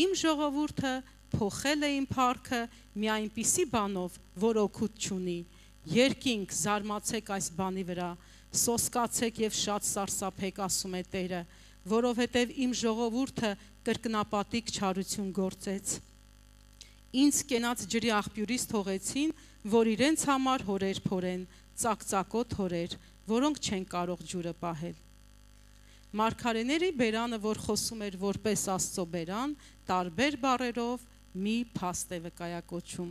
S1: Իմ ժողովուրդը փոխել է իմ փառքը մի այնպիսի բանով, որ օգուտ չունի։ Երկինք զարմացեք այս բանի վրա, սոսկացեք եւ շատ սարսափեք, ասում է Տերը, որովհետեւ իմ ժողովուրդը կրկնապատիկ չարություն գործեց։ Ինձ կենաց ջրի աղբյուրից թողեցին, որ իրենց համար հորեր փորեն, ծակծակոտ հորեր, որոնք չեն կարող ջուրը պահել։ Մարգարեների բերանը, որ խոսում էր որպես Աստծո բերան, տարբեր բառերով մի փաստ է վկայակոչում.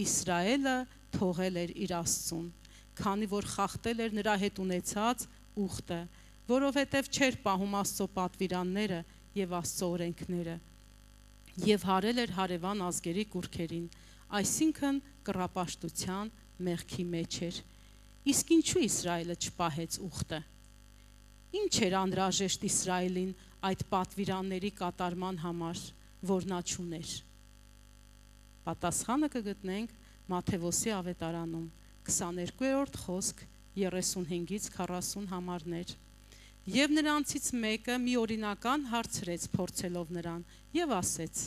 S1: Իսրայելը թողել էր իր Աստծուն, քանի որ խախտել էր նրա հետ ունեցած ուխտը, որովհետև չէր պահում Աստծո պատվիրանները եւ Աստծո օրենքները, եւ հարել էր հարևան ազգերի կուռքերին, այսինքն կռապաշտության մեղքի մեջ էր։ Իսկ ինչու Իսրայելը չպահեց ուխտը։ Ինչ էր անհրաժեշտ Իսրայելին այդ պատվիրանների կատարման համար, որ նա չուներ։ Պատասխանը կգտնենք Մատթեոսի ավետարանում 22-րդ խոսք 35-ից 40 համարներ։ Եվ նրանցից մեկը մի օրինական հարցրեց փորձելով նրան եւ ասեց.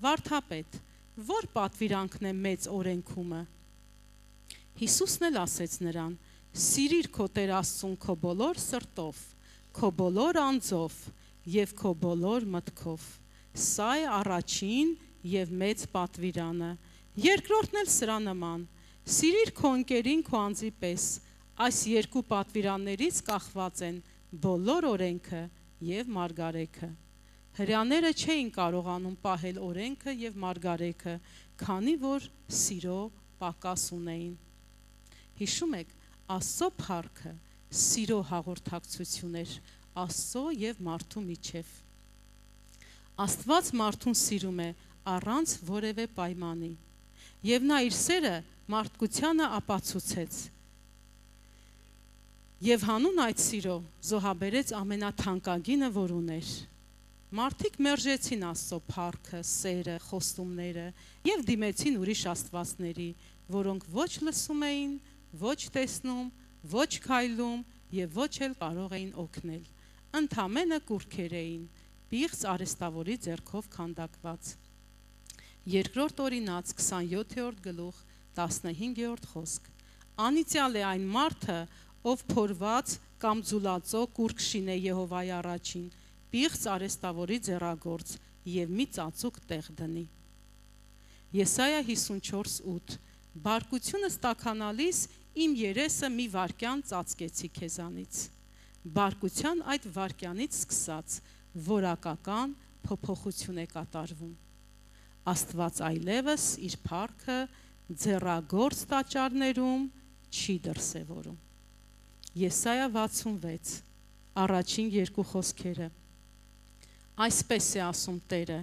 S1: Վարդապետ, որ պատվիրանքն է մեծ օրենքումը։ Հիսուսն էլ ասեց նրան. Սիրիր քո Տեր Աստծուն քո բոլոր սրտով, քո բոլոր անձով եւ քո բոլոր մտքով։ Սա է առաջին եւ մեծ պատվիրանը։ Երկրորդն էլ սրա նման. Սիրիր քո ընկերին քո անձի պես։ Այս երկու պատվիրաններից կախված են բոլոր օրենքը եւ մարգարեքը։ Հրեաները չէին կարողանում պահել օրենքը եւ մարգարեքը, քանի որ սիրո պակաս ունեին։ Հիշում եք, Աստծո փառքը սիրո հաղորդակցություն էր Աստծո եւ մարդու միջև։ Աստված մարդուն սիրում է առանց որևէ պայմանի, եւ նա իր սերը մարդկությանը ապացուցեց։ Եվ հանուն այդ սիրո զոհաբերեց ամենաթանկագինը, որ ուներ։ Մարդիկ մերժեցին Աստծո փառքը, սերը, խոստումները եւ դիմեցին ուրիշ աստվածների, որոնք ոչ լսում էին, ոչ տեսնում, ոչ քայլում եւ ոչ էլ կարող էին օգնել։ Ընդամենը կուռքեր էին, պիղծ արհեստավորի ձեռքով քանդակված։ Երկրորդ օրինաց 27-րդ գլուխ 15-րդ խոսք։ Անիծյալ է այն մարդը, ով փորված կամ ձուլածո կուռք շինե Եհովայի առաջին, պիղծ արհեստավորի ձեռագործ եւ մի ծածուկ տեղ դնի։ Եսայա 54:8 Բարկությունս տաքանալիս իմ երեսը մի վարքյան ծածկեցի քեզանից։ Բարկության այդ վարքյանից սկսած որակական փոփոխություն է կատարվում։ Աստված այլևս իր փառքը ձեռագործ տաճարներում չի դրսևորում։ Եսայա 66 առաջին երկու խոսքերը։ Այսպես է ասում Տերը.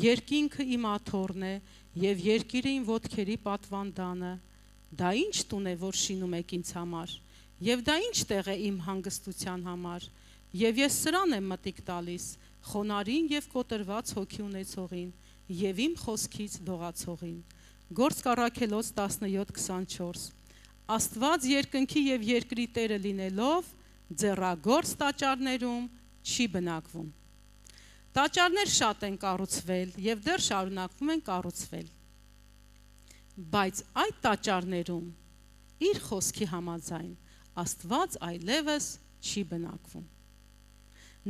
S1: երկինքը իմ աթոռն է եւ երկիրը իմ ոտքերի պատվանդանը։ Դա ինչ տուն է, որ շինում եք ինձ համար, եւ դա ինչ տեղ է իմ հանգստության համար, եւ ես սրան եմ մտիկ տալիս խոնարհին եւ կոտրված հոգի ունեցողին եւ իմ խոսքից դողացողին։ Գործք Առաքելոց 17:24 Աստված երկնքի եւ երկրի Տերը լինելով ձեռագործ տաճարներում չի բնակվում։ Տաճարներ շատ են կառուցվել եւ դեռ շարունակվում են կառուցվել։ Բայց այդ տաճարներում իր խոսքի համաձայն Աստված այլևս չի բնակվում։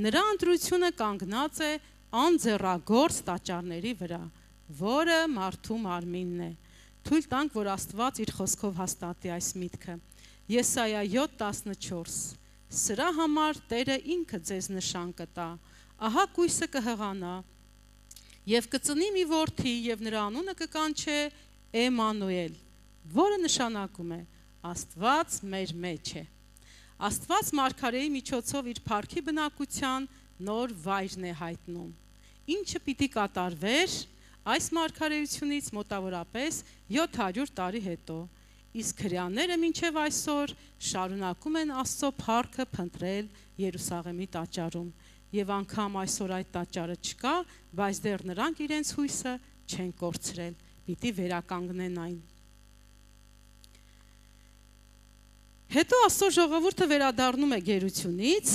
S1: Նրա ընտրությունը կանգնած է անձեռագործ տաճարների վրա, որը մարդու մարմինն է։ Թույլ տանք, որ Աստված իր խոսքով հաստատի այս միտքը։ Եսայա 7:14 Սրա համար Տերը ինքը ձեզ նշան կտա, ահա կույսը կհղանա, եւ կծնի մի որդի, եւ նրա անունը կկանչե Էմանուել, որը նշանակում է Աստված մեր մեջ է։ Աստված մարգարեի միջոցով իր փառքի բնակության նոր վայրն է հայտնում, ինչը պիտի կատարվեր այս մարգարեությունից մոտավորապես 700 տարի հետո, իսկ հրեաները մինչև այսօր շարունակում են Աստծո փառքը փնտրել Երուսաղեմի տաճարում, եւ անգամ այսօր այդ տաճարը չկա, բայց դեռ նրանք իրենց հույսը չեն կորցրել, պիտի վերականգնեն այն։ Հետո Աստծո ժողովուրդը վերադառնում է գերությունից,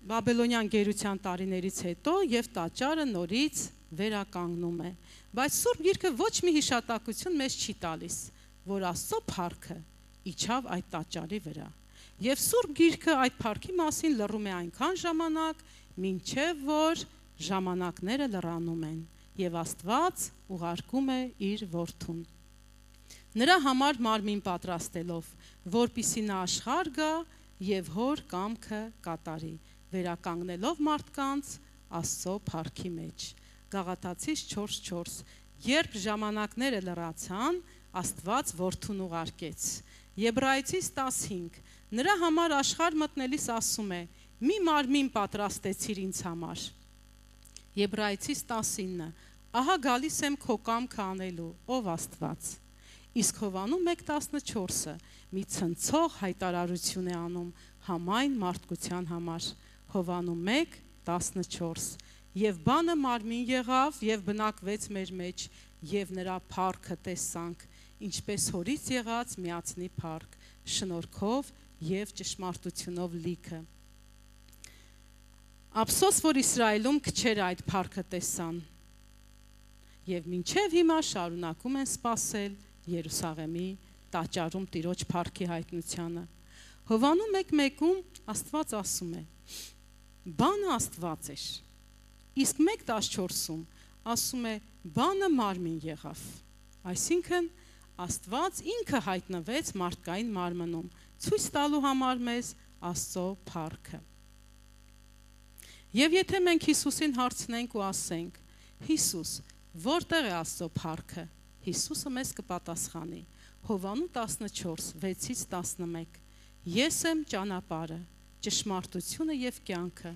S1: Բաբելոնյան գերության տարիներից հետո եւ տաճարը նորից վերականգնում է։ Բայց Սուրբ Գիրքը ոչ մի հիշատակություն մեզ չի տալիս, որ Աստծո փառքը իջավ այդ տաճարի վրա։ Եվ Սուրբ Գիրքը այդ փառքի մասին լռում է այնքան ժամանակ, մինչև որ ժամանակները լռանում են, եւ Աստված ուղարկում է իր որդուն։ Նրա համար մարմին պատրաստելով, որպիսի նա աշխարհ գա եւ հոր կամքը կատարի, վերականգնելով մարդկանց Աստծո փառքի մեջ։ Գաղատացիս 4:4 Երբ ժամանակները լռացան, Աստված որդուն ուղարկեց։ Եբրայեցիս 15 Նրա համար աշխարհ մտնելիս ասում է. մի մարմին պատրաստեցիր ինձ համար։ Եբրայեցիս 19 Ահա գալիս եմ քո կամքը անելու, ով Աստված։ Իսկ Հովանու 1:14-ը մի ցնցող հայտարարություն է անում համայն մարդկության համար։ Հովանու 1:14 Եվ բանը մարմին եղավ եւ բնակվեց մեր մեջ, եւ նրա փառքը տեսանք, ինչպես հորից եղած միածնի փառք, շնորհքով եւ ճշմարտությունով լիքը։ Ափսոս, որ Իսրայելում քչերը այդ փառքը տեսան, եւ մինչեւ հիմա շարունակում են սպասել Երուսաղեմի տաճարում Տիրոջ փառքի հայտնությանը։ Հովանու 1:1-ում Աստված ասում է. բանը Աստված էր, իսկ 1:14-ում ասում է բանը մարմին եղավ, այսինքն Աստված ինքը հայտնվեց մարդկային մարմնում, ցույց տալու համար մեզ Աստծո փառքը։ Եվ եթե մենք Հիսուսին հարցնենք ու ասենք. Հիսուս, որտեղ է Աստծո փառքը, Հիսուսը մեզ կպատասխանի։ Հովանու 14:6-11 Ես եմ ճանապարհը, ճշմարտությունը եւ կյանքը,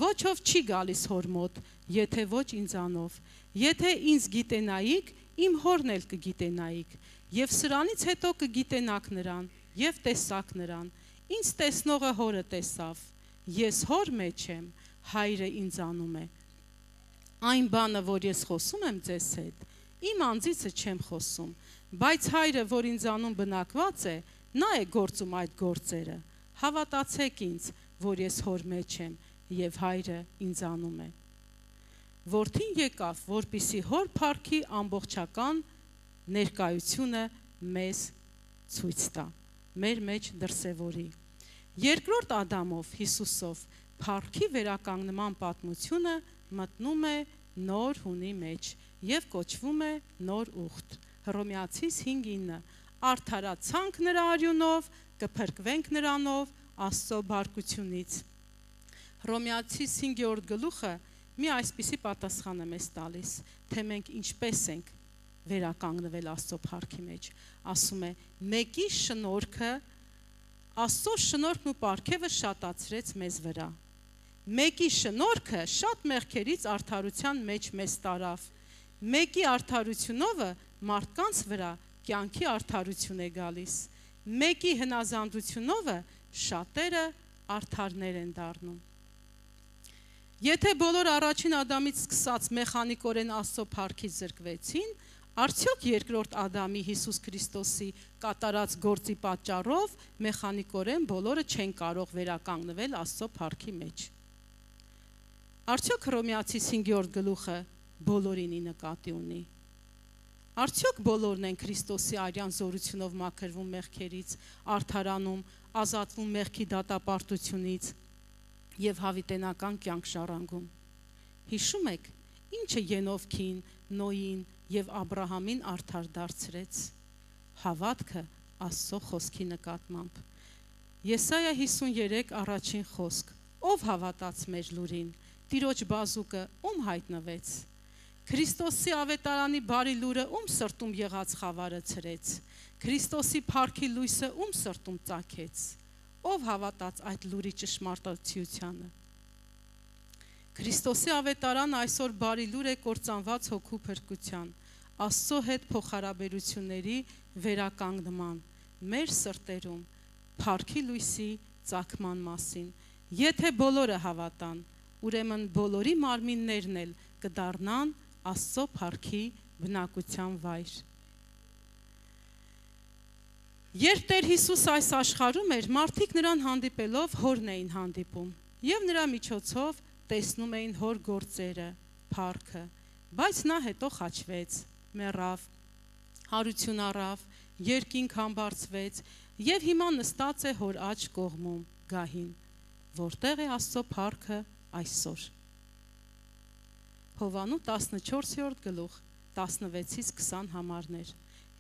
S1: ոչ ով չի գալիս հոր մոտ, եթե ոչ ինձանով, եթե ինձ գիտենայիք, իմ հորն էլ կգիտենայիք, եւ սրանից հետո կգիտենաք նրան եւ տեսաք նրան, ինձ տեսնողը հորը տեսավ, ես հոր մեջ եմ, հայրը ինձանում է։ Այն բանը, որ ես խոսում եմ ձեզ հետ, իմ անձիցը չեմ խոսում, բայց հայրը, որ ինձանում բնակված է, նա է գործում այդ գործերը։ Հավատացեք ինձ, որ ես հոր մեջ եմ եւ հայրը ինձանում է։ Որդին եկավ, որպիսի հոր փառքի ամբողջական ներկայությունը մեզ ցույց տա, մեր մեջ դրսևորի։ Երկրորդ Ադամով, Հիսուսով, փառքի վերականգնման պատմությունը մտնում է նոր հունի մեջ եւ կոչվում է նոր ուխտ։ Հռոմեացիս 5:9 Արդարացանք նրա արյունով, կփրկվենք նրանով Աստծո բարկությունից։ Հռոմեացիս 5-րդ գլուխը մի այսպիսի պատասխան է մեզ տալիս, թե մենք ինչպես ենք վերականգնվել Աստծո փառքի մեջ։ Ասում է. մեկի շնորհքը, Աստծո շնորհքն ու պարգևը շատացրեց մեզ վրա։ Մեկի շնորհքը շատ մեղքերից արդարության մեջ մեզ տարավ։ Մեկի արդարությունով մարդկանց վրա կյանքի արդարություն է գալիս։ Մեկի հնազանդությունով շատերը արդարներ են դառնում։ Եթե բոլոր առաջին Ադամից սկսած մեխանիկորեն Աստծո փառքից զրկվեցին, արդյոք երկրորդ Ադամի Հիսուս Քրիստոսի կատարած գործի պատճառով մեխանիկորեն բոլորը չեն կարող վերականգնվել Աստծո փառքի մեջ։ Արդյոք Հռոմեացիս 5-րդ գլուխը բոլորինի նկատի ունի։ Արդյոք բոլորն են Քրիստոսի արյան զորությունով մաքրվում մեղքերից, արդարանում, ազատվում մեղքի դատապարտությունից եւ հավիտենական կյանք ժառանգում։ Հիշում եք, ինչը Ենովքին, Նոյին եւ Աբրահամին արդար դարձրեց։ Հավատքը Աստծո խոսքի նկատմամբ։ Եսայա 53 առաջին խոսք. Ով հավատաց մեր լուրին, Տիրոջ բազուկը ում հայտնվեց։ Քրիստոսի ավետարանի բարի լուրը ում սրտում եղած խավարը ցրեց։ Քրիստոսի փառքի լույսը ում սրտում ծագեց։ Ով հավատաց այդ լուրի ճշմարտացիությանը։ Քրիստոսի ավետարանը այսօր բարի լուր է կործանված հոգու փրկության, Աստծո հետ փոխհարաբերությունների վերականգնման, մեր սրտերում փառքի լույսի ծագման մասին։ Եթե բոլորը հավատան, ուրեմն բոլորի մարմիններն էլ կդառնան Աստծո փառքի բնակության վայր։ Երբ Տեր Հիսուս այս աշխարհում էր, մարդիկ նրան հանդիպելով հորն էին հանդիպում եւ նրա միջոցով տեսնում էին հոր գործերը, փառքը, բայց նա հետո խաչվեց, մեռավ, հարություն առավ երկինք համբարձվեց եւ հիմա նստած է հոր աջ կողմում գահին, որտեղ է Աստծո փառքը այսօր։ Հովանու 14-րդ գլուխ 16-ից 20 համարներ։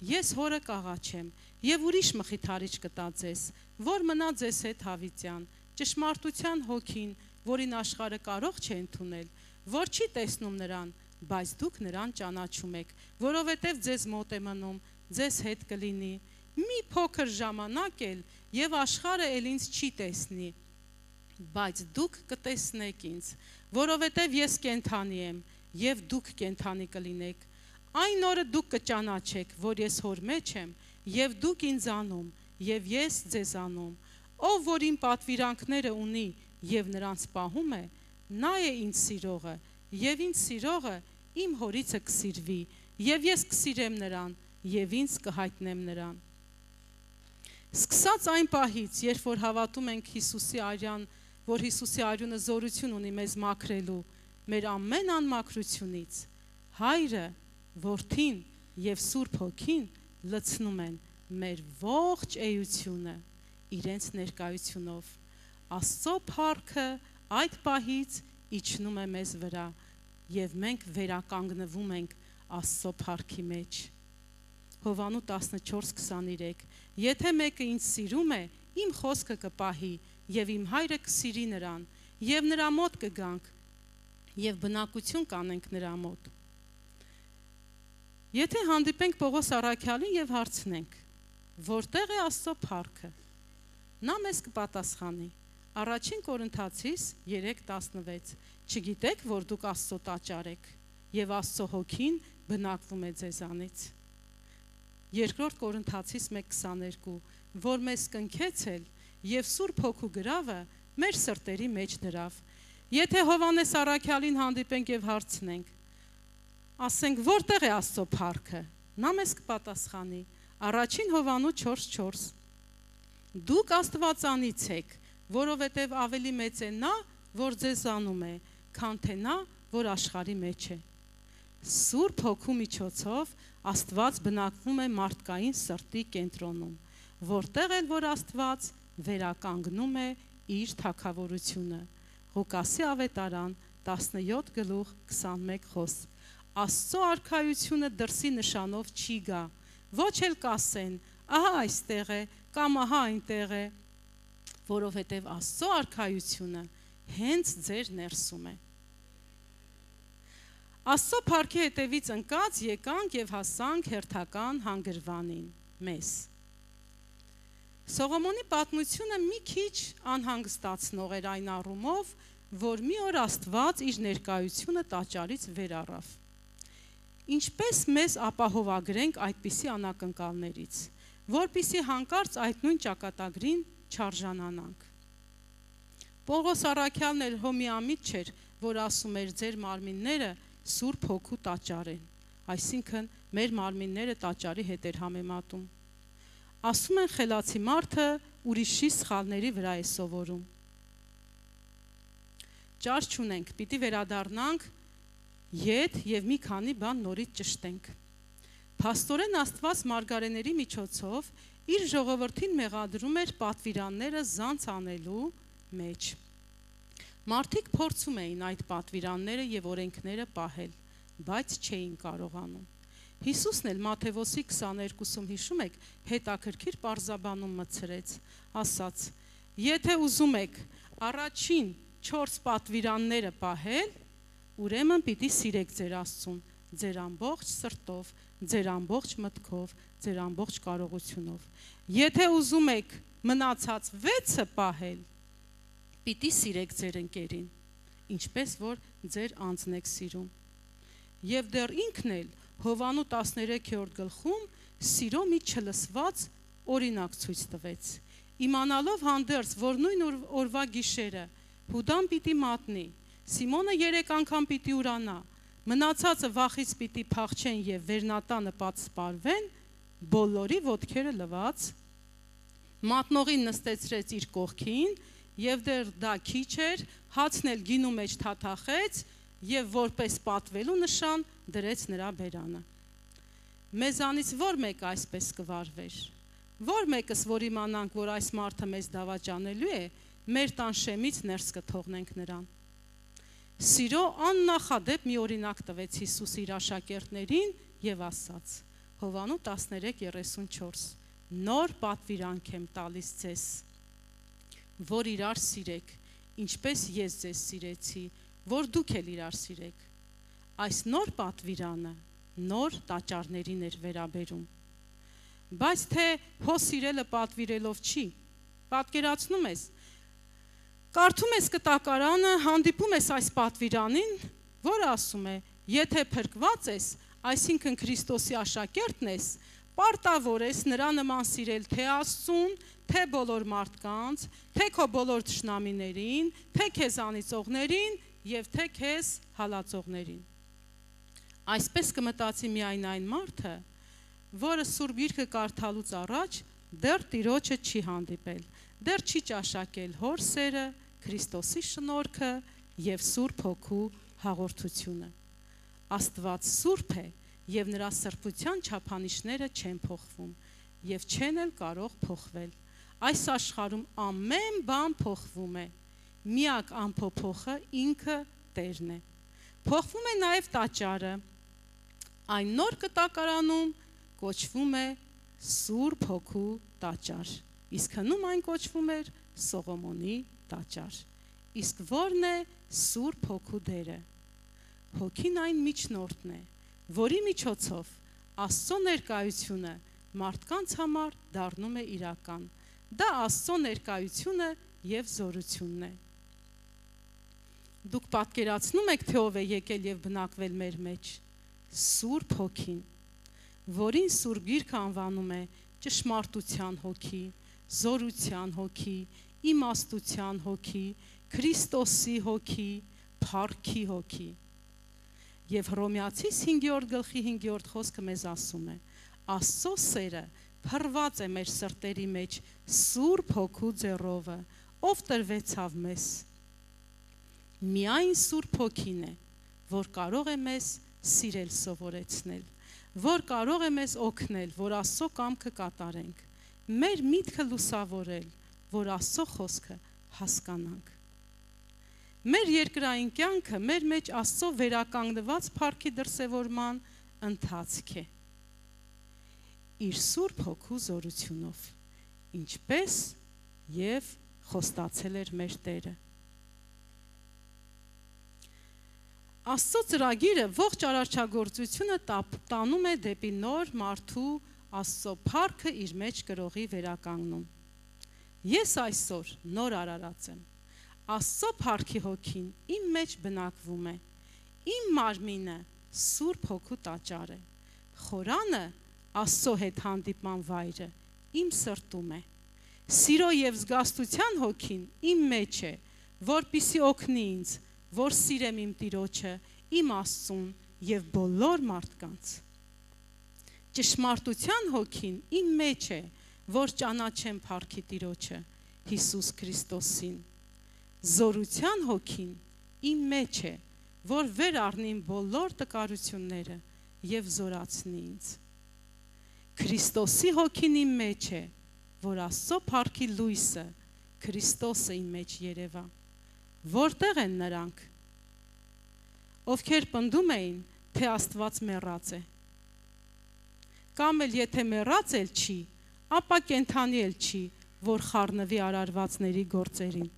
S1: Ես հորը կաղաչեմ եւ ուրիշ մխիթարիչ կտա ձեզ, որ մնա ձեզ հետ հավիտյան, ճշմարտության հոգին, որին աշխարհը կարող չէ ընդունել, որ չի տեսնում նրան, բայց դուք նրան ճանաչում եք, որովհետև ձեզ մոտ է մնում, ձեզ հետ կլինի։ Մի փոքր ժամանակ էլ եւ աշխարհը էլ ինձ չի տեսնի, բայց դուք կտեսնեք ինձ, որովհետև ես կենթանի եմ եւ դուք կենթանի կլինեք։ Այն օրը դուք կճանաչեք, որ ես հոր մեջ եմ եւ դուք ինձ անում եւ ես ձեզ անում։ Ով որ իմ պատվիրանքները ունի եւ նրանց պահում է, նա է ինձ սիրողը եւ ինձ սիրողը իմ հորիցը կսիրվի եւ ես կսիրեմ նրան եւ ինձ կհայտնեմ նրան։ Սկսած այն պահից, երբ որ հավատում ենք Հիսուսի արյան, որ Հիսուսի արյունը զորություն ունի մեզ մաքրելու, մեր ամեն անմաքրությունից, Հայրը, Որդին եւ Սուրբ Հոգին լցնում են մեր ողջ էությունը իրենց ներկայությունով։ Աստծո փառքը այդ պահից իջնում է մեզ վրա եւ մենք վերականգնվում ենք Աստծո փառքի մեջ։ Հովանու 14:23 Եթե մեկը ինձ սիրում է, իմ խոսքը կպահի եւ իմ Հայրը կսիրի նրան եւ նրա մոտ կգանք եւ բնակություն կանենք նրա մոտ։ Եթե հանդիպենք Պողոս առաքյալին եւ հարցնենք, որտեղ է Աստծո փառքը, նա մեզ կպատասխանի. Առաջին Կորինթացիս 3:16 Չգիտեք, որ դուք Աստծո տաճար եք եւ Աստծո հոգին բնակվում է ձեզանից։ Երկրորդ Կորինթացիս 1:22 որ մեզ կնքեցել եւ Սուրբ Հոգու գրավը մեր սրտերի մեջ դրավ։ Եթե Հովանես առաքյալին հանդիպենք եւ հարցնենք, ասենք որտեղ է Աստծո փառքը, նա մեզ կպատասխանի. Առաջին Հովանու 4:4 Դուք Աստվածանից եք, որովհետև ավելի մեծ է նա, որ ձեզ անում է, քան թե նա, որ աշխարհի մեջ է։ Սուրբ Հոգու միջոցով Աստված բնակվում է մարդկային սրտի կենտրոնում, որտեղ էլ որ Աստված վերականգնում է իր թագավորությունը։ Ղուկասի ավետարան 17:21 խոսք Աստծո արքայությունը դրսի նշանով չի գա, ոչ էլ կասեն, ահա այստեղ է, կամ ահա այնտեղ է, որովհետև Աստծո արքայությունը հենց ձեր ներսում է։ Աստծո փառքի հետևից ընկած եկանք եւ հասանք հերթական հանգրվանին մեզ։ Սողոմոնի պատմությունը մի քիչ անհանգստացնող էր այն առումով, որ մի օր Աստված իր ներկայությունը տաճարից վեր առավ։ Ինչպես մեզ ապահովագրենք այդպիսի անակնկալներից, որպիսի հանկարծ այդ նույն ճակատագրին չարժանանանք։ Պողոս առաքյալն էլ հոմիամիտ չէր, որ ասում էր ձեր մարմինները Սուրբ Հոգու տաճար են, այսինքն մեր մարմինները տաճարի հետ էր համեմատում։ Ասում են խելացի մարդը ուրիշի սխալների վրա է սովորում։ Ճար չունենք, պիտի վերադառնանք ետ եւ մի քանի բան նորից ճշտենք։ Փաստորեն Աստված մարգարեների միջոցով իր ժողովրդին մեղադրում էր պատվիրանները զանց անելու մեջ։ Մարդիկ փորձում էին այդ պատվիրանները եւ օրենքները պահել, բայց չէին կարողանում։ Հիսուսն էլ Մատթեոսի 22-ում հիշում եք, հետաքրքիր պարզաբանում մտցրեց, ասաց. Եթե ուզում եք առաջին 4 պատվիրանները պահել, ուրեմն պիտի սիրեք ձեր Աստծուն, ձեր ամբողջ սրտով, ձեր ամբողջ մտքով, ձեր ամբողջ կարողությունով։ Եթե ուզում եք մնացած 6-ը պահել, պիտի սիրեք ձեր ընկերին, ինչպես որ ձեր անձն եք սիրում։ Եվ դեռ ինքն էլ Հովանու 13-րդ գլխում սիրո մի չլսված օրինակ ցույց տվեց։ Իմանալով հանդերձ, որ նույն օրվա գիշերը Հուդան պիտի մատնի, Սիմոնը 3 անգամ պիտի ուրանա, մնացածը վախից պիտի փախչեն եւ վերնատանը պատսպարվեն, բոլորի ոտքերը լված, մատնողին նստեցրեց իր կողքին եւ դեռ դա քիչ էր, հացն էլ գինու մեջ թաթախեց եւ որպես պատվելու նշան դրեց նրա բերանը։ մեզանից որ մեկը այսպես կվարվեր, որ մեկս, որ իմանանք, որ այս մարդը մեզ դավաճանելու է, մեր տան շեմից ներս կթողնենք նրան։ Սիրո աննախադեպ մի օրինակ տվեց Հիսուս իր աշակերտներին եւ ասաց. Հովանու 13:34 նոր պատվիրանք եմ տալիս ձեզ, որ իրար սիրեք, ինչպես ես ձեզ սիրեցի, որ դուք էլ իրար սիրեք։ Այս նոր պատվիրանը նոր տաճարներին էր վերաբերում։ Բայց թե հո սիրելը պատվիրելով չի, պատկերացնում ես, կարդում ես կտակարանը, հանդիպում ես այս պատվիրանին, որ ասում է, եթե փրկված ես, այսինքն Քրիստոսի աշակերտն ես, պարտավոր ես նրա նման սիրել թե Աստծուն, թե բոլոր մարդկանց, թե քո բոլոր թշնամիներին, թե քեզ անիծողներին եւ թե քեզ հալածողներին։ Այսպես կմտածի միայն այն մարդը, որը Սուրբ Գիրքը կարդալուց առաջ դեռ Տիրոջը չի հանդիպել, դեռ չի ճաշակել հոր սերը, Քրիստոսի շնորհքը եւ Սուրբ Հոգու հաղորդությունը։ Աստված սուրբ է եւ նրա սրբության չափանիշները չեն փոխվում եւ չեն էլ կարող փոխվել։ Այս աշխարհում ամեն բան փոխվում է, միակ անփոփոխը ինքը Տերն է։ Փոխվում է նաեւ տաճարը, այն նոր կտակարանում կոչվում է Սուրբ Հոգու տաճար, իսկ հնում այն կոչվում էր Սողոմոնի տաճար։ Իսկ ո՞րն է Սուրբ Հոգու դերը։ Հոգին այն միջնորդն է, որի միջոցով Աստծո ներկայությունը մարդկանց համար դառնում է իրական։ Դա Աստծո ներկայությունը եւ զորությունն է։ Դուք պատկերացնում եք, թե ով է եկել եւ բնակվել մեր մեջ։ Սուրբ Հոգին, որին Սուրբ Գիրքը անվանում է ճշմարտության հոգի, զորության հոգի, իմաստության հոգի, Քրիստոսի հոգի, փառքի հոգի։ Եվ Հռոմեացիս 5:5 խոսքը մեզ ասում է. Աստծո սերը փռված է մեր սրտերի մեջ Սուրբ Հոգու ձեռովը, ով տրվեցավ մեզ։ Միայն Սուրբ Հոգին է, որ կարող է մեզ սիրել սովորեցնել, որ կարող է մեզ օգնել, որ Աստծո կամքը կատարենք, մեր միտքը լուսավորել, որ Աստծո խոսքը հասկանանք։ Մեր երկրային կյանքը մեր մեջ Աստծո վերականգնված փառքի դրսևորման ընթացք է։ Իր Սուրբ Հոգու զորությունով, ինչպես եւ խոստացել էր մեր Տերը։ Աստծո ծրագիրը ողջ արարչագործությունը տանում է դեպի նոր մարդու Աստծո փառքը իր մեջ կրողի վերականգնում։ Ես այսօր նոր արարած եմ։ Աստծո փառքի հոգին իմ մեջ բնակվում է, իմ մարմինը Սուրբ Հոգու տաճար է, խորանը Աստծո հետ հանդիպման վայրը իմ սրտում է, սիրո եւ զգաստության հոգին իմ մեջ է, որպիսի օգնի ինձ, որ սիրեմ իմ Տիրոջը, իմ Աստծուն եւ բոլոր մարդկանց։ Ճշմարտության հոգին իմ մեջ է, որ ճանաչեմ փառքի Տիրոջը, Հիսուս Քրիստոսին։ Զորության հոգին իմ մեջ է, որ վեր առնի բոլոր տկարությունները եւ զորացնի ինձ։ Քրիստոսի հոգին իմ մեջ է, որ Աստծո փառքի լույսը Քրիստոսը իմ մեջ երևա։ Որտեղ են նրանք, ովքեր պնդում էին, թե Աստված մեռած է։ Կամ էլ եթե մեռած էլ չի, ապա կենդանի էլ չի, որ խառնվի արարվածների գործերին։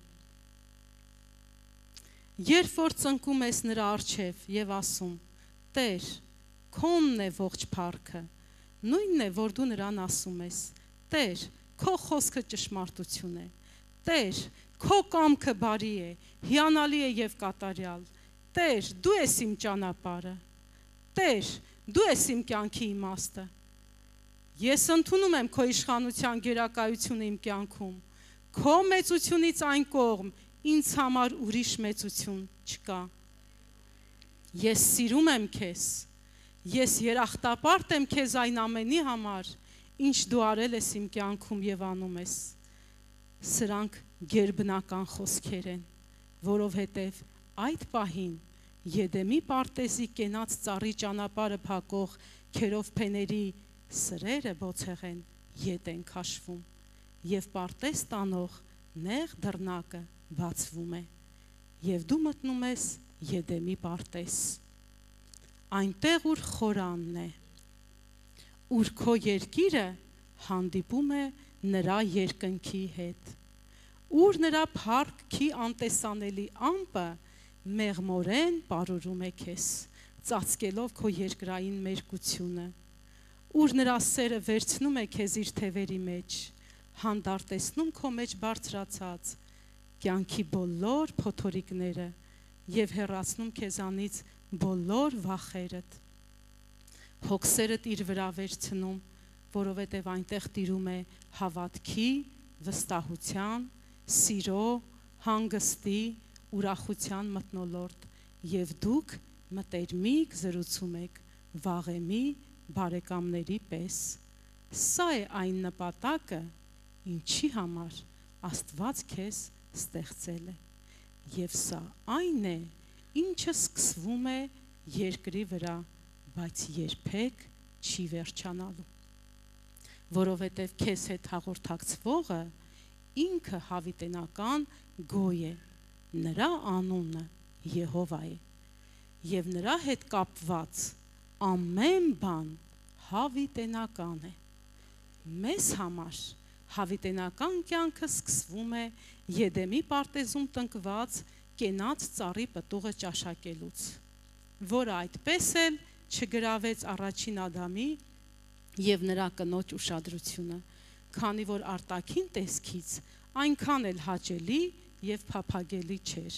S1: Երբ որ ծնկում ես նրա առջև եւ ասում. Տեր, քոնն է ողջ փառքը, նույնն է, որ դու նրան ասում ես. Տեր, քո խոսքը ճշմարտություն է։ Տեր, քո կամքը բարի է, հիանալի է եւ կատարյալ։ Տեր, դու ես իմ ճանապարհը։ Տեր, դու ես իմ կյանքի իմաստը։ Ես ընդունում եմ քո իշխանության գերակայությունը իմ կյանքում։ Քո մեծությունից այն կողմ ինձ համար ուրիշ մեծություն չկա։ Ես սիրում եմ քեզ։ Ես երախտապարտ եմ քեզ այն ամենի համար, ինչ դու արել ես իմ կյանքում եւ անում ես։ Սրանք գերբնական խոսքեր են, որովհետեւ այդ պահին Եդեմի պարտեզի կենաց ծառի ճանապարհը փակող ոտքերով փեների սրերը բոցեղեն ետ են քաշվում, եւ պարտես տանող նեղ դռնակը բացվում է, եւ դու մտնում ես Եդեմի պարտես, այնտեղ ուր խորանն է, ուր քո երկիրը հանդիպում է նրա երկնքի հետ, ուր նրա փառքի անտեսանելի ամպը մեղմորեն պարուրում է քեզ, ծածկելով քո երկրային մերկությունը, ուր նրա սերը վերցնում է քեզ իր թևերի մեջ, հանդարտեցնում քո մեջ բարձրացած կյանքի բոլոր փոթորիկները եւ հեռացնում քեզանից բոլոր վախերդ, հոգսերդ իր վրա վերցնում, որովհետեւ այնտեղ տիրում է հավատքի, վստահության, սիրո, հանգստի, ուրախության մթնոլորտ եւ դուք մտերմիկ զրուցում եք վաղեմի բարեկամների պես, սա է այն նպատակը, ինչի համար Աստված քեզ ստեղծել է, եւ սա այն է, ինչը սկսվում է երկրի վրա, բայց երբեք չի վերջանալու, որովհետեւ քեզ հետ հաղորդակցվողը ինքը հավիտենական գոյ է, նրա անունը Եհովա է, եւ նրա հետ կապված ամեն բան հավիտենական է, մեզ համար հավիտենական կյանքը սկսվում է Եդեմի պարտեզում տնկված կենաց ծառի պտուղը ճաշակելուց, որը այդպես էլ չգրավեց առաջին Ադամի եւ նրա կնոջ ուշադրությունը, քանի որ արտաքին տեսքից այնքան էլ հաճելի եւ փափագելի չէր,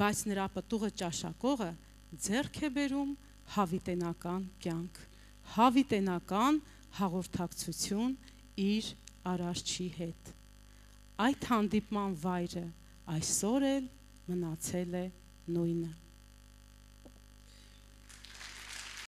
S1: բայց նրա պտուղը ճաշակողը ձեռք է բերում հավիտենական կյանք, հավիտենական հաղորդակցություն իր Արարչի հետ, այդ հանդիպման վայրը այսօր էլ մնացել է նույնը։